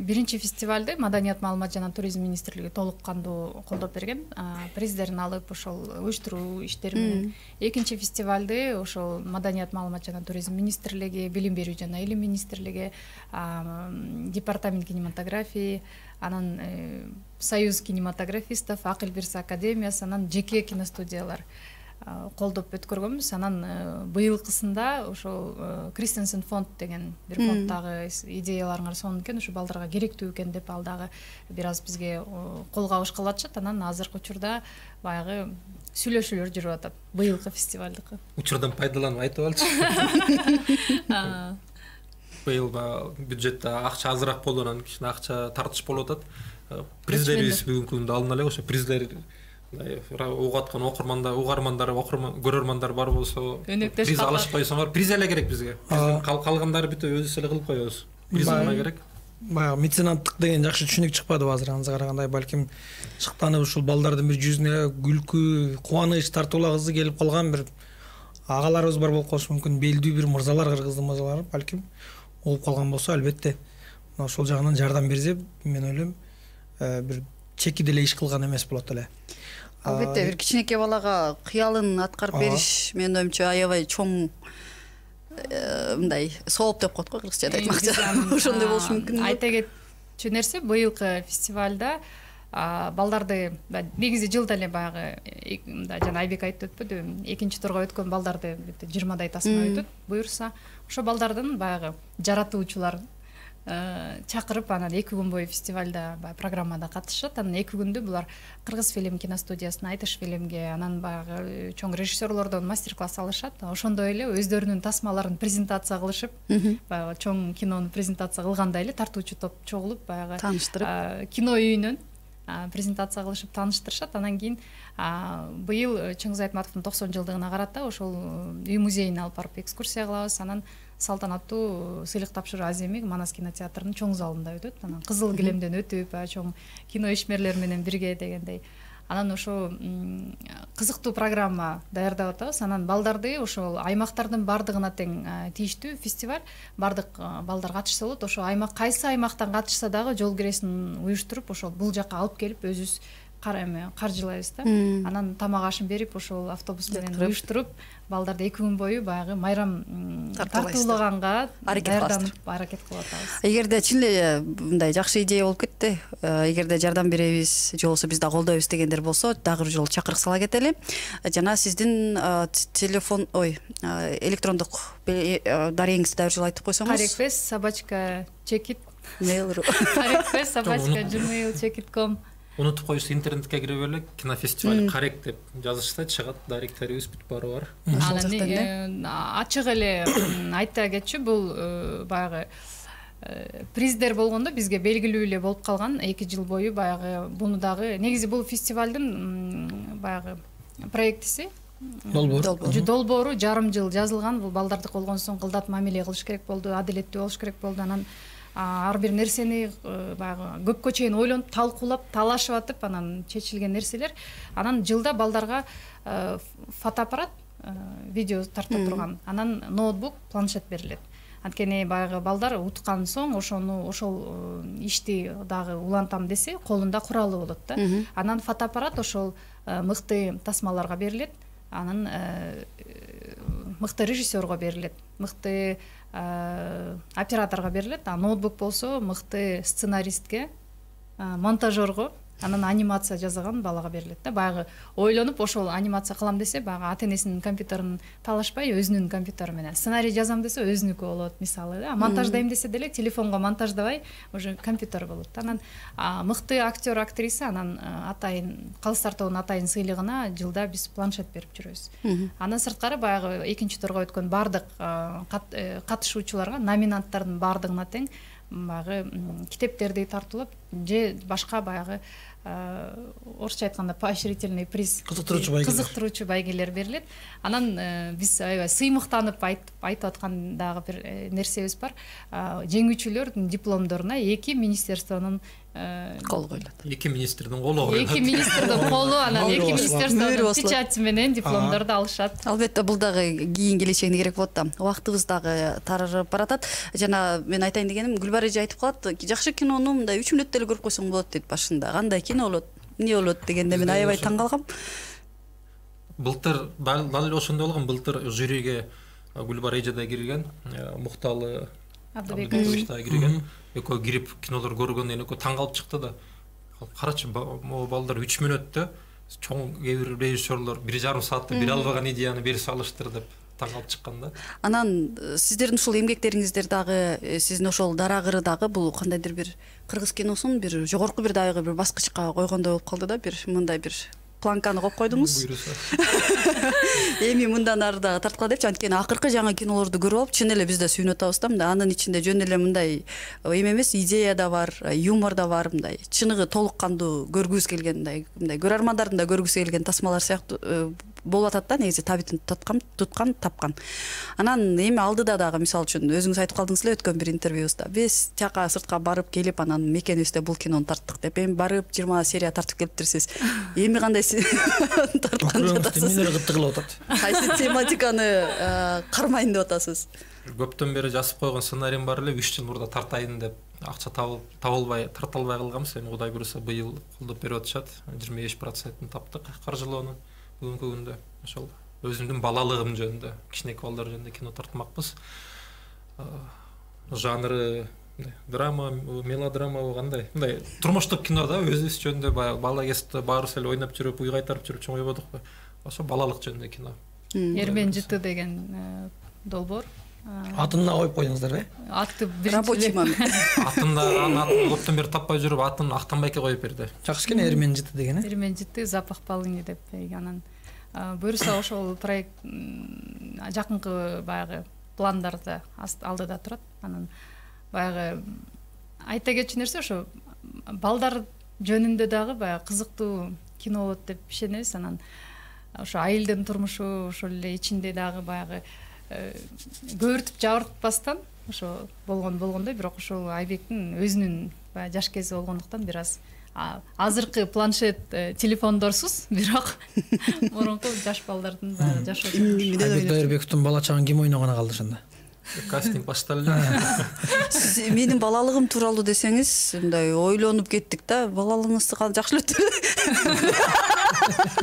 биринчи фестивалды Маданият, маалымат жана туризм министрлиги толук кандуу колдоп берген. Приздерин алып ошол уюштуруу иштери менен. Экинчи фестивалды ошол Маданият, маалымат жана туризм министрлиги, Билим берүү жана илим министрлиги, департамент кинематографии, анан Союз кинематографистов, Акыл Бирса академиясы, анан жеке киностудиялар колдоп өткөргөнбүз. Анан быйылкысында ошол Кристенсен фонд деген бир фонддагы идеяларыңар сонун экен, ушу балдарга керектүү экен деп ал дагы бир аз бизге кол кабышкы кылатышат. Анан азыркы учурда баягы сүйлөшүүлөр жүрүп атат быйылкы фестивалдыкы. Учурдан пайдаланып айтып алчы. быйыл баягы бюджетте акча азыраак болду, анан кичине акча тартыш болуп атат. Приздерибиз бүгүнкү күндө алына элек, ошо приздер угуп аткан окурмандар, угармандар, көрөрмандар бар болсо, приз алышып койсоңор, приз эле керек бизге. Калгандары бүт өзүбүз эле кылып коебуз. Приз албай керек. Баягы меценаттык деген жакшы түшүнүк чыкпадыбы азыр аныңызга карагандай, балким шыктанып ушул балдардын бир жүзүнө күлкү, кубаныч тартуулагысы келип калган бир агаларыбыз бар болуп калышы мүмкүн, белдүү бир мырзалар, кыргыздын мырзалары балким угуп калган болсо, албетте ошол жагынан жардам берсе, мен ойлойм, бир чеки деле иш кылган эмес болот эле. Албетте бир кичинекей балага кыялын аткарып бериш менин оюмча аябай чоң мындай сооп деп коет го кыргызчада айтмакчы. Ошондой болушу мүмкүн. Айта кетчү нерсе, быйылкы фестивалда балдарды негизи жылда эле баягы жана Айбек айтып өтпөдү, экинчи турга өткөн балдарды жыйырмадай тасма өтөт буюрса, ошо балдардын баягы жаратуучуларын чакырып, анан эки күн бою фестивалда баягы программада катышат. Анан эки күндү булар Кыргыз фильм киностудиясына, Айтыш фильмге, анан баягы чоң режиссерлордон мастер-класс алышат. Ошондой эле өздөрүнүн тасмаларын презентация кылышып, баягы чоң кинону презентация кылгандай эле тартуучу топ чогулуп, баягы тааныштырып, кино үйүнөн презентация кылышып тааныштырышат. Анан кийин быйыл Чыңгыз Айтматовдун токсон жылдыгына карата ошол үй музейине алып барып экскурсия кылабыз. Анан салтанаттуу сыйлык тапшыруу аземи Манас кинотеатрынын чоң залында өтөт. Анан кызыл килемден өтүп, чоң кино ишмерлер менен бирге дегендей. Анан ошо кызыктуу программа даярдап атабыз. Анан балдарды ошол аймактардын бардыгына тең тийиштүү фестиваль. Бардык балдар катышса болот. Ошо аймак кайсы аймактан катышса дагы жол киресин уюштуруп, ошол бул жакка алып келип өзүбүз каржылайбыз да. Анан тамак ашын берип, ошол автобус менен уюштуруп, балдарды эки күн бою баягы майрам тартуулаганга даярданып аракет кылып атабыз. Эгерде чын эле мындай жакшы идея болуп кетти, эгерде жардам беребиз, же болбосо биз да колдойбуз дегендер болсо, дагы бир жолу чакырык сала кетели. Жана сиздин телефон, ой, электрондук дарегиңизди дагы бир жолу айтып койсоңуз. Карекфест собачка чекит mail.ru карекфест собачка gmail чекит точка ком. Унутуп коюш, интернетке кирип элек кинофестиваль карек деп жазышса чыгат, даректерибиз бүт баары бар. Анан ачык эле айта кетчү, бул баягы приздер болгондо бизге белгилүү эле болуп калган эки жыл бою. Баягы буну дагы негизи бул фестивалдын баягы проектиси долбоору жарым жыл жазылган. Бул балдардык болгон соң кылдат мамиле кылыш керек болду, адилеттүү болуш керек болду. Анан ар бир нерсени баягы көпкө чейин ойлонуп, талкуулап, талашып атып, анан чечилген нерселер. Анан жылда балдарга фотоаппарат, видео тарта турган, анан ноутбук, планшет берилет. Анткени баягы балдар уткан соң ошону ошол ишти дагы улантам десе, колунда куралы болот да. Анан фотоаппарат ошол мыкты тасмаларга берилет. Анан мыкты режиссерго берилет, мыкты операторго берилет. А ноутбук болсо мыкты сценаристке, монтажерго, анан анимация жасаган балага берилет да. Баягы ойлонуп ошол анимация кылам десе, баягы ата-энесинин компьютерин талашпай, өзүнүн компьютери менен. Сценарий жазам десе, өзүнүкү болот, мисалы да. Монтаждайм десе деле телефонго монтаждабай, уже компьютер болот. Анан мыкты актер, актриса, анан атайын Калыстар тобунун атайын сыйлыгына жылда биз планшет берип жүрөбүз. Андан сырткары баягы экинчи турга өткөн бардык катышуучуларга, номинанттардын бардыгына тең баягы китептерди тартуулап, же башка баягы орусча айтканда поощрительный приз, кызыктыруучу байгелер кызыктыруучу байгелер берилет. Анан биз аябай сыймыктанып айтып аткан дагы бир нерсебиз бар. Жеңүүчүлөрдүн дипломдоруна эки министерствонун кол коюлат. Эки министрдин колу коюлат. Эки министрдин колу, анан эки министерствонун печати менен дипломдорду алышат. Албетте бул дагы кийин келечегине керек болот да. Убактыбыз дагы тарырып баратат. Жана мен айтайын дегеним, Гүлбар эже айтып калат, жакшы кинону мындай үч мүнөттө эле көрүп койсоң болот дейт башында. Кандай кино болот, эмне болот дегенде мен аябай таң калгам. Былтыр дал эле ошондой болгон. Былтыр жюриге Гүлбар эже да кирген, Мукталы Абдыбекович да кирген. Экөө кирип кинолор көргөндөн экөө таң калып чыкты да. Карачы, могу балдар үч мүнөттө чоң кээ бир режиссерлор бир жарым саатта бере албаган идеяны бере салыштыр деп таң калып чыккан да. Анан сиздердин ушул эмгектериңиздер дагы, сиздин ошол дарагыры дагы бул кандайдыр бир кыргыз киносун бир жогорку бир дагы бир баскычка койгондой болуп калды да, бир мындай бир планканы коюп койдуңуз. Буйруса. Эми мындан ары дагы тарткыла депчи, анткени акыркы жаңы кинолорду көрүп алып чын эле биз да сүйүнүп атабыз да. Мындай анын ичинде жөн эле мындай эме эмес, идея да бар, юмор да бар, мындай чыныгы толук кандуу көргүбүз келген, мындай мындай көрөрмандардын да көргүсү келген тасмалар сыяктуу болуп атат да, негизи табитин туткан, туткан, тапкан. Анан эми алдыда дагы мисалы үчүн өзүңүз айтып калдыңыз эле өткөн бир интервьюбузда. Биз жака сыртка барып келип анан мекенибизде бул кинону тарттык деп, эми барып жыйырма серия тартып келиптирсиз. Эми кандай тарткан жатасыз? Мен эле кытты кылып атат. Кайсы тематиканы кармайын деп атасыз? Көптөн бери жазып койгон сценариym бар эле, үч жыл мурда тартайын деп акча табылбай, тарта албай калганбыз. Эми Кудай буйруса быйыл колдоп берип атышат. жыйырма беш процентин таптык каржылоону. Бүгүнкү күндө ошол өзүмдүн балалыгым жөнүндө, кичинекей балдар жөнүндө кино тартмакпыз. Жанры драма, мелодрама кандай? Мындай турмуштук кино да, өзүбүз жөнүндө баягы бала кезде баарыбыз эле ойноп жүрүп, уй кайтарып жүрүп чоңойбодукпу. Ошо балалык жөнүндө кино. Эрмен жыты деген долбоор. Атына коюп койдуңуздарбы? Атты Рабочий момент. Атында атын көптөн бери таппай жүрүп, атын Актанбайке коюп берди. Жакшы экен Эрмен жыты деген, э? Эрмен жыты, запах полыни деп. Анан буюрса ошол проект жакынкы баягы пландарда алдыда турат. Анан баягы айта кетчү нерсе ошо балдар жөнүндө дагы баягы кызыктуу кино болот деп ишенебиз. Анан ошо айылдын турмушу, ошол эле ичинде дагы баягы көөртүп жабыртпастан ошо болгон болгондой, бирок ошол Айбектин өзүнүн баягы жаш кези болгондуктан бир аз азыркы планшет телефондорсуз, бирок мурунку жаш балдардын баягы жашоо. Айбек Дайырбековдун бала чагын ким ойногону калды ошондо? Кастинг башталды эле. Сиз менин балалыгым тууралуу десеңиз, мындай ойлонуп кеттик да, балалыгыңызды жакшы эле өттү.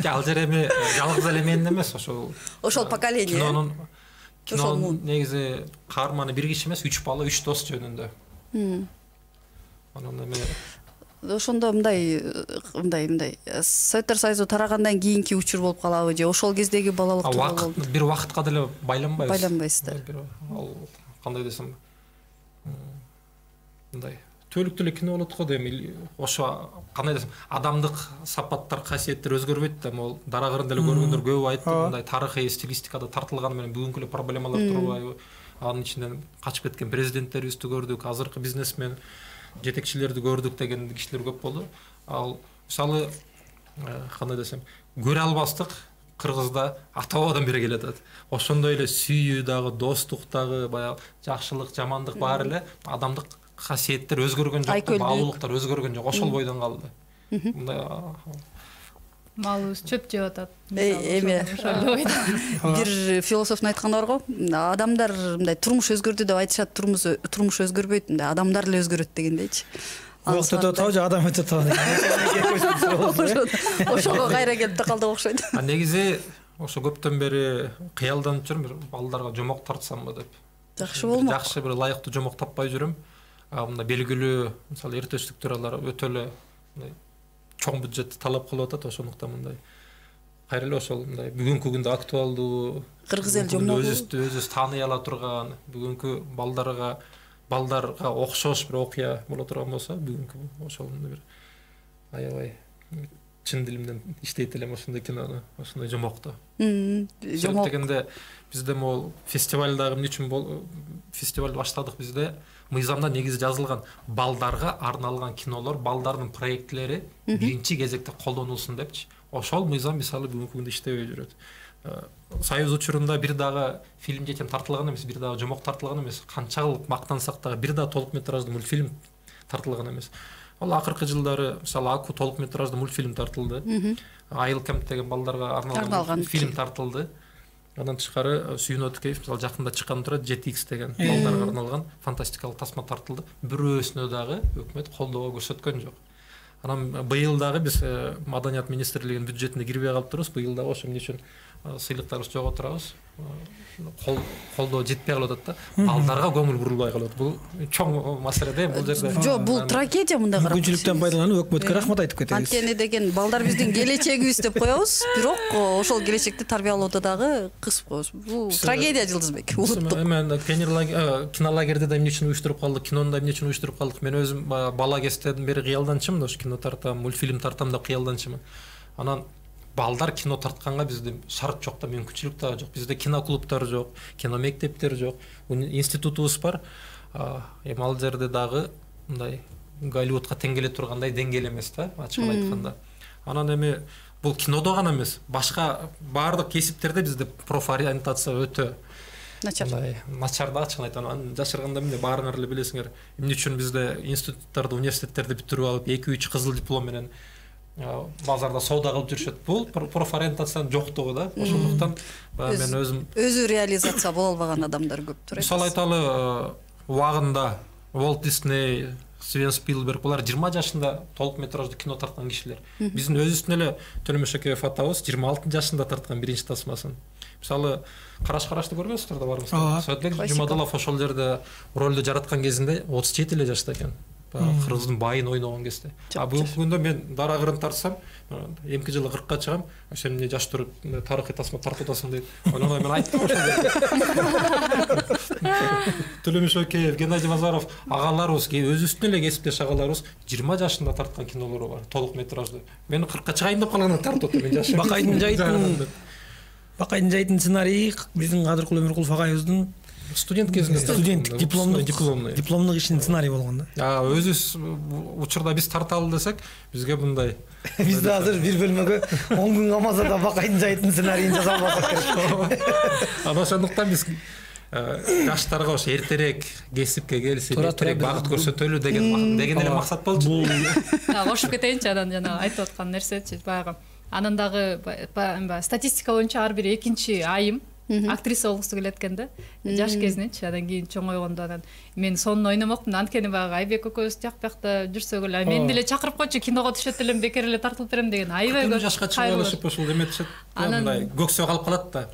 Ал жер эми жалгыз эле менин эмес, ошол ошол поколение. Кинонун кинонун негизи каарманы бир киши эмес, үч бала, үч дос жөнүндө. Анан эми ошондо мындай мындай мындай Советтер Союзу тарагандан кийинки учур болуп калабы же ошол кездеги балалык тууралуу болду? Бир убакытка деле байланбайбыз. Байланбайсыздар. Ал кандай десем, мындай түбөлүктүү эле кино болот го дейм. Ошо кандай десем, адамдык сапаттар, касиеттер өзгөрбөйт да. Могул дара кырында эле көргөндөр көп айтты, мындай тарыхый стилистикада тартылганы менен бүгүнкү эле проблемалар турбайбы? Анын ичинен качып кеткен президенттерибизди көрдүк, азыркы бизнесмен жетекчилерди көрдүк деген кишилер көп болду. Ал мисалы кандай десем, көрө албастык Кыргызда ата бабадан бери келе атат. Ошондой эле сүйүү дагы, достук дагы, баягы жакшылык, жамандык бар эле, адамдык касиеттер өзгөргөн жок, баалуулуктар өзгөргөн жок, ошол бойдон калды. Мындай малыбыз чөп жеп атат. Эми бир философтун айтканы бар го, адамдар мындай турмуш өзгөрдү деп айтышат, турмуш турмуш өзгөрбөйт, мындай адамдар эле өзгөрөт дегендейчи. Убакыт өтүп атабы же адам өтүп атабы? Ошого кайра келип такалдык окшойт. А негизи ошо көптөн бери кыялданып жүрүм, бир балдарга жомок тартсамбы деп. Жакшы болмок. Жакшы бир ылайыктуу жомок таппай жүрүм. Мындай белгилүү, мисалы эртештиктөралар өтө эле мындай чоң бюджетти талап кылып атат, ошондуктан мындай кайра эле ошол мындай бүгүнкү күндө актуалдуу, кыргыз эл жомогу өзүбүздү өзүбүз тааный ала турган, бүгүнкү балдарга балдарга окшош бир окуя боло турган болсо, бүгүнкү ошол бир аябай чын дилимден иштейт элем ошондой кинону, ошондой жомокту. Жомок дегенде бизде могул фестивалдагы эмне үчүн фестивалды баштадык бизде? Мыйзамда негизи жазылган балдарга арналган кинолор, балдардын проектлери биринчи кезекте колдонулсун депчи. Ошол мыйзам мисалы бүгүнкү күндө иштебей жүрөт. Союз учурунда бир дагы фильм жетем тартылган эмес, бир дагы жомок тартылган эмес. Канчалык мактансак дагы бир дагы толук метраждуу мультфильм тартылган эмес. Ал акыркы жылдары мисалы Аку толук метраждуу мультфильм тартылды. Айыл Кемп деген балдарга арналган фильм тартылды. Андан тышкары Сүйүн Өткеев мисалы жакында чыккан турат жети икс деген балдарга арналган фантастикалык тасма тартылды. Бирөөсүнө дагы өкмөт колдоо көрсөткөн жок. Анан быйыл дагы биз Маданият министрлигинин бюджетине кирбей калыптырбыз. Быйыл дагы ошо эмне үчүн сыйлыктарыбызды жоготурабыз. Колдоо жетпей калып атат да. Балдарга көңүл бурулбай калат. Бул чоң маселе да, бул жерде. Жок, бул трагедия мындай карап. Мүмкүнчүлүктөн пайдаланып өкмөткө рахмат айтып кетебиз. Анткени деген балдар биздин келечегибиз деп коебуз, бирок ошол келечекти тарбиялоодо дагы кысып коебуз. Бул трагедия Жылдызбек. Мен кинолагерде да эмне үчүн уюштуруп калдык, кинону да эмне үчүн уюштуруп калдык. Мен өзүм бала кезден бери кыялданчымын, ошо кино тартам, мультфильм тартам да кыялданчымын. Анан балдар кино тартканга бизде шарт жок да, мүмкүнчүлүк дагы жок. Бизде киноклубтар жок, кино мектептер жок, институтубуз бар. Эми ал жерде дагы мындай Голливудка тең келе тургандай деңгээл эмес да, ачыгын айтканда. Анан эми бул кинодо гана эмес, башка баардык кесиптерде бизде профориентация өтө начар. Начар да, ачыгын айтам. Анан жашырганда эмне баарыңар эле билесиңер. Эмне үчүн бизде институттарды, университеттерди бүтүрүп алып, эки үч кызыл диплом менен базарда соода кылып жүрүшөт. Бул профориентациянын жоктугу да. Ошондуктан мен өзүм өзү реализация боло албаган адамдар көптүр. Мисалы айталы, убагында Уолт Дисней, Стивен Спилберг булар жыйырма жашында толук метраждуу кино тарткан кишилер. Биздин өзүбүздүн эле Төлөмөш Шөкеев атабыз жыйырма алты жашында тарткан биринчи тасмасын. Мисалы, Караш карашты көргөнсүздөр да барыңыздар. Саатбек Жумадылов ошол жерде ролду жараткан кезинде отуз жети эле жашта экен. Кыргыздын байын ойногон кезде. А бүгүнкү күндө мен дарагырын тартсам, эмки жылы кыркка чыгам, сен эмне жаш туруп тарыхый тасма тартып атасың дейт. Ойлонбой мен айттым ошол жерде. Төлөмөш Шөкеев, Геннадий Базаров агаларыбыз, өзүбүздүн эле кесиптеш агаларыбыз жыйырма жашында тарткан кинолору бар, толук метраждуу. Мен кыркка чыгайын деп калганда тартып атам, мен жашым. Бакайдын жайдын Бакайдын жайдын сценарийи биздин Кадыркул Өмүркулов агайыбыздын студент кезинде студенттик дипломдук дипломдук дипломдук ишинин сценарийи болгон да. А өзүбүз учурда биз тарталы десек, бизге мындай бизде азыр бир бөлмөгө он күн камазада Бакайдын жайдын сценарийин жаза албасак керек. Анан ошондуктан биз жаштарга ошо эртерээк кесипке келип, эртерээк багыт көрсөтөлү деген деген эле максат болчу. Кошуп кетейинчи, анан жана айтып аткан нерсечи баягы. Анан дагы статистика боюнча ар бир экинчи айым актриса болгусу келет экен да. Жаш кезиненчи, андан кийин чоңойгондо анан мен сонун ойномокмун, анткени баягы Айбек экөөбүз тияк биякта жүрсөк эле мен деле чакырып койчу, киного түшөт элем, бекер эле тартылып берем деген аябай көп. Жашка чыгып алышып ошол эметишет. Мындай көксөө калып калат да.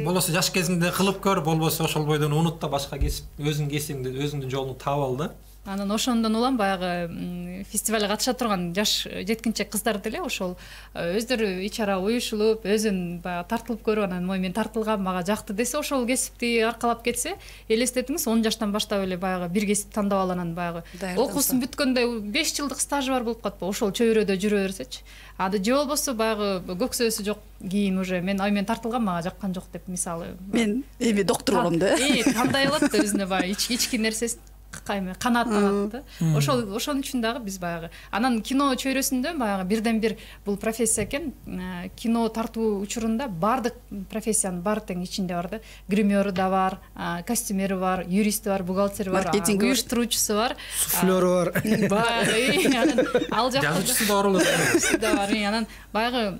Болбосо жаш кезинде кылып көр, болбосо ошол бойдон унут да, башка кесип, өзүңдүн кесибиңди, өзүңдүн жолуңду таап ал да. Анан ошондон улам баягы фестивалга катыша турган жаш жеткинчек кыздар деле ошол өздөрү ичара уюшулуп, өзүн баягы тартылып көрүп, анан мой мен тартылгам, мага жакты десе, ошол кесипти аркалап кетсе, элестетиңиз он жаштан баштап эле баягы бир кесип тандап алып, анан баягы окуусун бүткөндө беш жылдык стажы бар болуп калат, ошол чөйрөдө жүрө берсечи. Анда же болбосо баягы көксөөсү жок, кийин уже мен ой мен тартылгам, мага жаккан жок деп, мисалы мен эми доктор болом да. Э, тандай алат да өзүнө баягы ички нерсесин канааттанат да. Ошол ошон үчүн дагы биз баягы анан кино чөйрөсүндө баягы бирден бир бул профессия экен. Кино тартуу учурунда баардык профессиянын баары тең ичинде бар да. Гримеры да бар, костюмери бар, юристи бар, бухгалтери бар, уюштуруучусу бар, суфлеры бар. Анан ал жакта жазуучусу да бар. Да бар. Анан баягы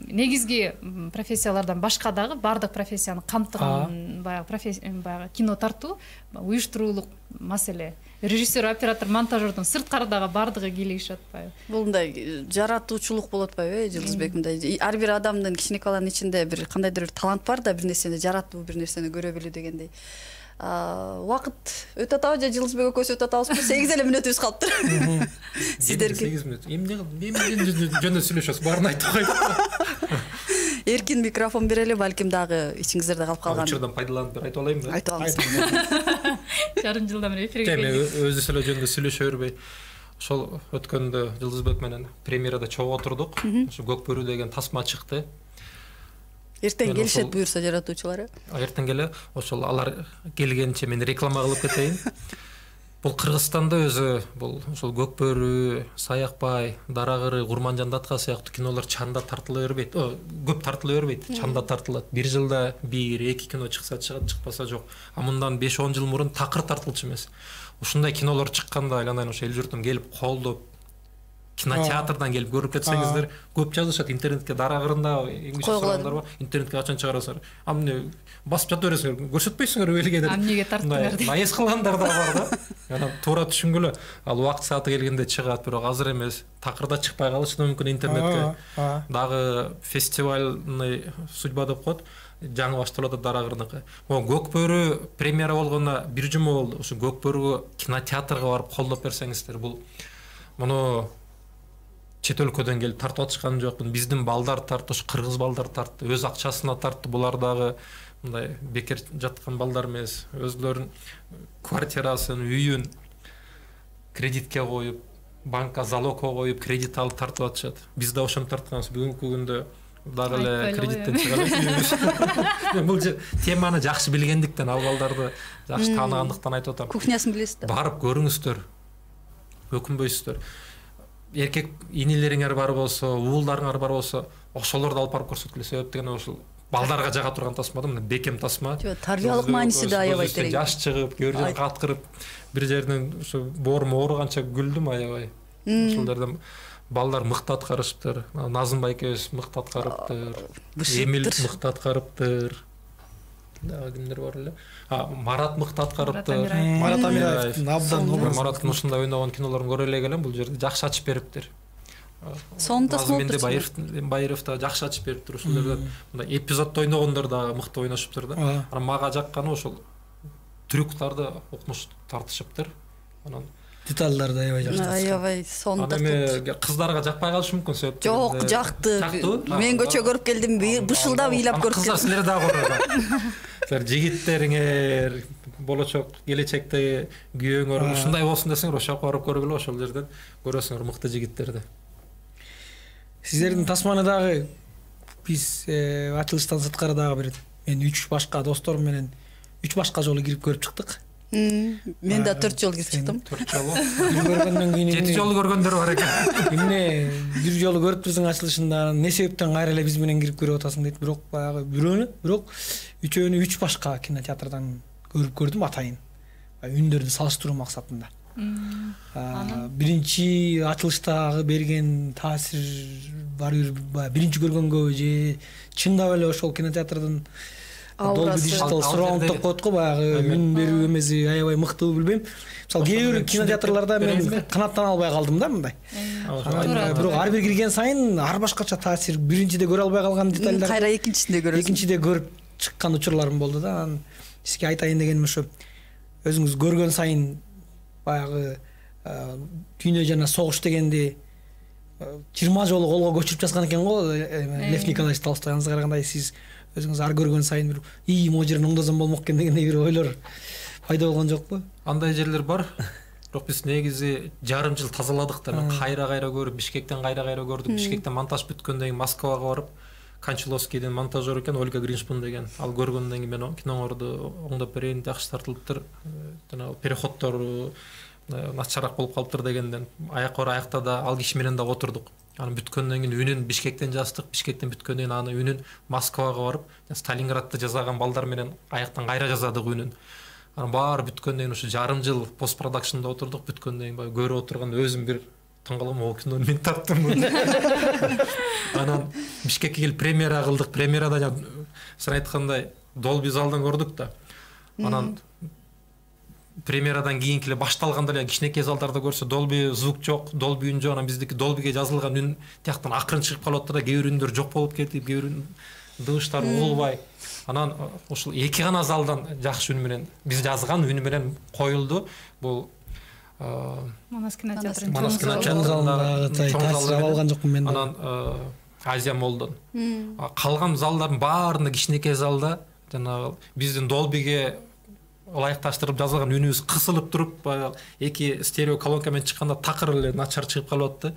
негизги профессиялардан башка дагы баардык профессияны камтыган баягы профессия баягы кино тартуу, уюштуруулук маселе. Режиссер, оператор, монтажердон сырткардагы баардыгы кийлигишип атпайбы? Бул мындай жаратуучулук болуп атпайбы, Жылдызбек? Мындай ар бир адамдын кичинекаланын ичинде бир кандайдыр бир талант бар да, бир нерсени жаратуу, бир нерсени көрө билүү дегендей. Убакыт өтө атабы же Жылдызбек экөөбүз өтө атабызбы? сегиз эле мүнөтүбүз калыптыр. Сиздерге сегиз мүнөт. Эмне эмне жөнүндө сүйлөшөбүз? Баарын айтып коюп. Эркин микрофон берели, балким дагы ичиңиздерде калып калган. Учурдан пайдаланып бир айтып алайынбы? Айтып алыңыз. Жарым жылдан бери эфирге келди. Эми өзүбүз эле жөнүндө сүйлөшө бербей. Ошол өткөндө Жылдызбек менен премьерада чогуу отурдук. Ошо Көк бөрү деген тасма чыкты. Эртең келишет буюрса жаратуучулары. Эртең келе, ошол алар келгенче мен реклама кылып кетейин. Бул Кыргызстанда өзү бул ошол Көк бөрү, Саякбай, Дарагыры, Курманжан датка сыяктуу кинолор чанда тартыла бербейт. Көп тартыла бербейт, чанда тартылат. Бир жылда бир, эки кино чыкса чыгат, чыкпаса жок. А мындан беш он жыл мурун такыр тартылчу эмес. Ушундай кинолор чыкканда айланайын ошо эл журтум келип колдоп, кинотеатрдан келип көрүп кетсеңиздер, көп жазышат интернетке. Дарагырында сорагандар бар, интернетке качан чыгарасыңар? А эмне басып жата бересиңер, көрсөтпөйсүңөр элге деп. А эмнеге тартыңар деп. Наэс кылгандар да бар да. Анан туура түшүнгүлө, ал убакыт сааты келгенде чыгат, бирок азыр эмес. Такырда чыкпай калышы мүмкүн интернетке. Дагы фестивальный судьба деп коет. Жаңы башталып атат Дарагырдыкы. Могу Көк бөрү премьера болгондо бир жума болду. Ошо Көк бөрүгө кинотеатрга барып колдоп берсеңиздер, бул муну чет өлкөдөн келип тартып атышкан жокмун. Биздин балдар тартты, ошо кыргыз балдар тартты, өз акчасына тартты. Булар дагы мындай бекер жаткан балдар эмес. Өзлөрүнүн квартирасын, үйүн кредитке коюп, банкка залогко коюп, кредит алып тартып атышат. Биз да ошону тартканбыз. Бүгүнкү күндө дагы эле Айтпайлы ғой, кредиттен чыга элек. Мен бул теманы жакшы билгендиктен, ал балдарды жакшы тааныгандыктан айтып атам. Кухнясын билесиз да. Барып көрүңүздөр. Өкүнбөйсүздөр. Эркек инилериңер бар болсо, уулдарыңар бар болсо, ошолорду алып барып көрсөткүлө. Себеп деген ошол балдарга жага турган тасма да, мына бекем тасма. Жок, тарбиялык мааниси да аябай терең. Жаш чыгып, көр жерин каткырып, бир жерден ошо боорум ооруганча күлдүм аябай. Ошол жерден балдар мыкты аткарышыптыр. Назымбай экөөбүз мыкты аткарыптыр. Эмил мыкты аткарыптыр. Дагы кимдер бар эле? А, Марат мыкты аткарыптыр. Марат Амираевдин абдан образ. Мараттын ушундай ойногон кинолорун көрө элек элем, бул жерде жакшы ачып бериптир. Сонун тасма болуптур. Байыров, Байыров да жакшы ачып бериптир ушул жерде. Мындай эпизоддо ойногондор да мыкты ойношуптур да. Анан мага жакканы ошол трюктарды укмуш тартышыптыр. Анан детальдарды аябай жакшы. Аябай сонун тартып. тартып. Кыздарга жакпай калышы мүмкүн себеп. Жок, жакты. Мен көчө көрүп келдим, бышылдап ыйлап көрүп келдим. Кыздар силер дагы көрөт. Силер жигиттериңер, болочок келечекте күйөөңөр ушундай болсун десеңер, ошол жака барып көргүлө, ошол жерден көрөсүңөр мыкты жигиттерди. Сиздердин тасманы дагы биз ачылыштан сырткары дагы бир мен үч башка досторум менен үч башка жолу кирип көрүп чыктык. Мен да төрт жолу кирип чыктым. төрт жолу. Көргөндөн кийин жети жолу көргөндөр бар экен. Эмне бир жолу көрүптүрсүң ачылышында, эмне себептен кайра эле биз менен кирип көрүп атасың дейт. Бирок баягы бирөөнү, бирок үчөөнү үч башка кинотеатрдан көрүп көрдүм атайын. Үндөрдү салыштыруу максатында. Биринчи ачылыштагы берген таасир баары бир биринчи көргөнгө же чындап эле ошол кинотеатрдын Dolby Digital Surround деп коет го, баягы үн берүү эмеси аябай мыктыбы билбейм. Мисалы кээ бир кинотеатрларда мен канаттан албай калдым да мындай. Бирок ар бир кирген сайын ар башкача таасир. Биринчиде көрө албай калган детальдар кайра экинчисинде көрөсүң. Экинчиде көрүп чыккан учурларым болду да. Анан сизге айтайын дегеним ошо, өзүңүз көргөн сайын баягы дүйнө жана согуш дегенди жыйырма жолу колго көчүрүп жазган экен го Лев Николаевич Толстой. Аңызга караганда сиз өзүңүз ар көргөн сайын бир ий могу жерин оңдосом болмок экен дегендей бир ойлор пайда болгон жокпу? Андай жерлер бар. Бирок биз негизи жарым жыл тазаладык да. Кайра-кайра көрүп, Бишкектен кайра-кайра көрдүк. Бишкектен монтаж бүткөндөн кийин Москвага барып, Кончаловскийдин монтажер экен Ольга Гриншпун деген. Ал көргөндөн кийин мен киноңорду оңдоп берейин, жакшы тартылыптыр. Жана переходдор начараак болуп калыптыр дегенден аяк ора аякта да ал киши менен да отурдук. Анан бүткөндөн кийин үнүн Бишкектен жаздык. Бишкектен бүткөндөн кийин аны үнүн Москвага барып, Сталинградты жасаган балдар менен аяктан кайра жазадык үнүн. Анан баары бүткөндөн кийин ушу жарым жыл пост продакшнда отурдук. Бүткөндөн кийин баягы көрүп отурганда өзүм бир таң калам, о кинону мен тарттым. Анан Бишкекке келип премьера кылдык. Премьерада сен айткандай Dolby залдан көрдүк да. Анан премьерадан кийинки эле башталганда эле кичинекей залдарда көрсө Dolby звук жок, Dolby үн жок. Анан биздики Dolbyге жазылган үн тияктан акырын чыгып калып атты да, кээ бир үндөр жок болуп кетип, кээ бир дыбыштар угулбай. Анан ушул эки гана залдан жакшы үн менен биз жазган үн менен коюлду. Бул Манас кинотеатрынын Манас чоң залында таасир ала алган жокмун мен. Анан Азия Молдон. Калган залдардын баарында кичинекей залда жанагы биздин Dolbyге ылайыкташтырып жазылган үнүбүз кысылып туруп, эки стерео колонка менен чыкканда такыр эле начар чыгып калып атты.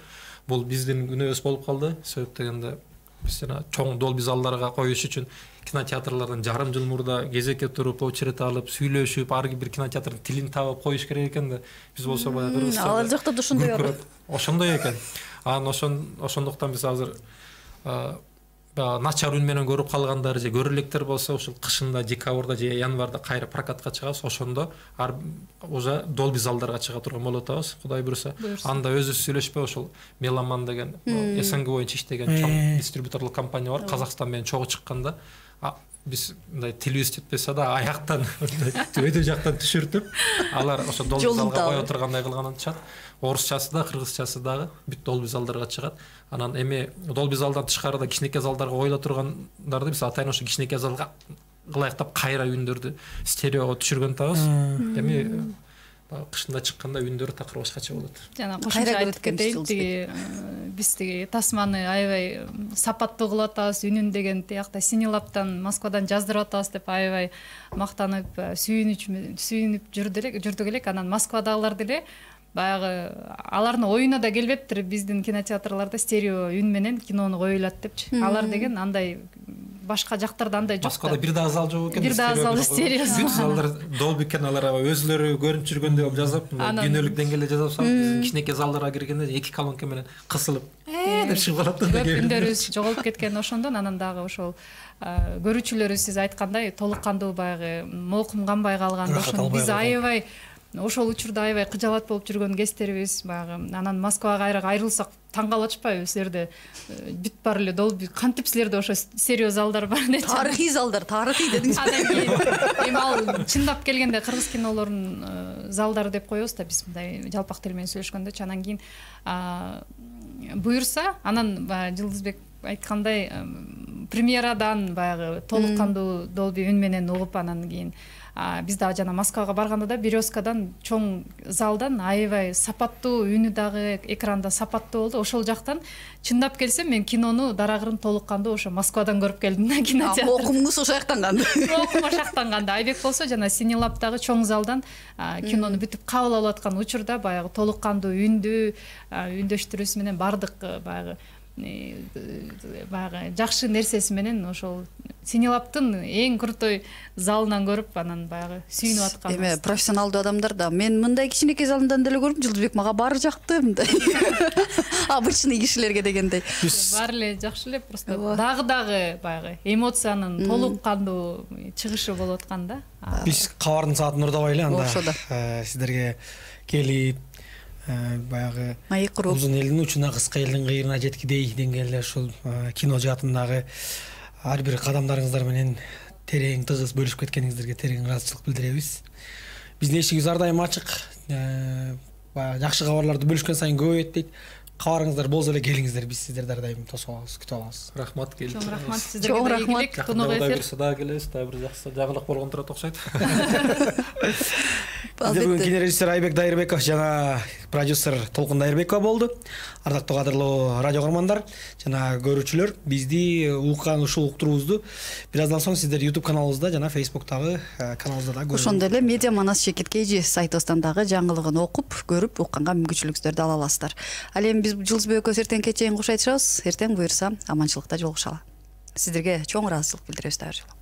Бул биздин күнөөбүз болуп калды. Себеп дегенде биз жана чоң Dolby залдарга коюш үчүн кинотеатрлардан жарым жыл мурда кезекке туруп, очередь алып, сүйлөшүп, ар бир кинотеатрдын тилин табып коюш керек экен да. Биз болсо баягы Кыргызстанда ал жакта да ошондой бар. Ошондой экен. Анан ошон ошондуктан биз азыр начар үн менен көрүп калгандар же көрө электер болсо ушул кышында, декабрда же январда кайра прокатка чыгабыз. Ошондо ар уже Dolby залдарга чыга турган болуп атабыз, Кудай буйруса. Анда өзүбүз сүйлөшпөй ошол Меломан деген СНГ боюнча иштеген чоң дистрибьюторлук компания бар. Казакстан менен чогуу чыкканда биз мындай тилибиз жетпесе да аяктан өтө жактан түшүртүп, алар ошо Dolby залга кое тургандай кылган чат. Орусчасы да, кыргызчасы дагы бүт Dolby залдарга чыгат. Анан эми Dolby залдан тышкарыда кичинекей залдарга коюла тургандарды биз атайын ошо кичинекей залга ылайыктап кайра үндөрдү стереого түшүргөн атабыз. Эми кышында чыкканда үндөрү такыр башкача болот. Жана кошумча айтып кетейин, тиги биз тиги тасманы аябай сапаттуу кылып атабыз, үнүн деген тиякта Синилабтан, Москвадан жаздырып атабыз деп аябай мактанып, сүйүнүп сүйүнүп жүрдүк элек. Анан Москвадагылар деле баягы алардын оюна да келбептир биздин кинотеатрларда стерео үн менен кинону коюлат депчи. Алар деген андай башка жактарда андай жок. Москвада бир дагы зал жок экен. Бир дагы зал стерео. Бүт залдар Dolby каналдар өзлөрү көрүнүп жүргөндөй жазып, күнөлүк деңгээлде жазып салып, биздин кичинекей залдарга киргенде эки колонка менен кысылып, э деп чыгып калат. Көп үндөрүбүз жоголуп кеткен ошондон анан дагы ошол көрүүчүлөрү сиз айткандай толук кандуу баягы молкум канбай калган, ошону биз аябай ошол учурда аябай кыжаалат болуп жүргөн кездерибиз баягы. Анан Москвага кайра айрылсак таң калып атышпайбы силерде бүт баары эле долбу кантип силерде ошо стерео залдар бар деп. Тарыхый залдар, тарыхый дедиңиз. Анан кийин эми ал чындап келгенде кыргыз кинолорунун залдары деп коебуз да биз мындай жалпак тил менен сүйлөшкөндө. Анан кийин буюрса анан баягы Жылдызбек айткандай премьерадан баягы толук кандуу долбу үн менен угуп анан кийин биз дагы жана Москвага барганда да Березкадан чоң залдан аябай сапаттуу үнү дагы экранда сапаттуу болду. Ошол жактан чындап келсем мен кинону дараагырын толук кандуу ошо Москвадан көрүп келдим да кинотеатрда. Окумуңуз ошол жактан канды. Окум ошол жактан канды. Айбек болсо жана Синелабдагы чоң залдан кинону бүтүп кабыл алып аткан учурда баягы толук кандуу үндү үндөштүрүүсү менен бардык баягы баягы жакшы нерсеси менен ошол Синелабдын эң крутой залынан көрүп анан баягы сүйүнүп аткан. Эме профессионалдуу адамдар да мен мындай кичинекей залдан деле көрдүм, Жылдызбек мага баары жакты мындай. Обычный кишилерге дегендей. Баары эле жакшы эле, просто дагы дагы баягы эмоциянын толук кандуу чыгышы болуп аткан да. Биз кабардын саатын урдабай эле анда Ошодо. сиздерге келип баягы Маек куруп узун элдин учуна кыска элдин кыйрына жеткидей деңгээлде ушул кино жаатындагы ар бир кадамдарыңыздар менен терең тыгыз бөлүшүп кеткениңиздерге терең ыраазычылык билдиребиз. Биздин эшигибиз ар дайым ачык. Баягы жакшы кабарларды бөлүшкөн сайын көбөйөт дейт. Кабарыңыздар болсо эле келиңиздер, биз сиздерди ар дайым тосуп алабыз, күтүп алабыз. Рахмат келип. Чоң рахмат сиздерге. Чоң рахмат. Кунак эфир дагы келебиз, дагы бир жакшы жагылык болгон турат окшойт. Бүгүн кинорежиссер Айбек Дайырбеков жана продюсер Толкун Дайырбекова болду. Ардактуу кадырлуу радио көрөрмандар жана көрүүчүлөр, бизди уккан ушул уктуруубузду бир аздан соң сиздер YouTube каналыбызда жана Facebook'тагы каналыбызда да көрүп. Ошондой эле Медиа Манас Шекет Кейжи сайтыбыздан дагы жаңылыгын окуп, көрүп, укканга мүмкүнчүлүктөрдү ала аласыздар. Ал эми биз Жылдызбек экөөбүз эртеңки кече кош айтышабыз. Эртең буюрса аманчылыкта жолугушалы. Сиздерге чоң ыраазычылык билдиребиз дагы.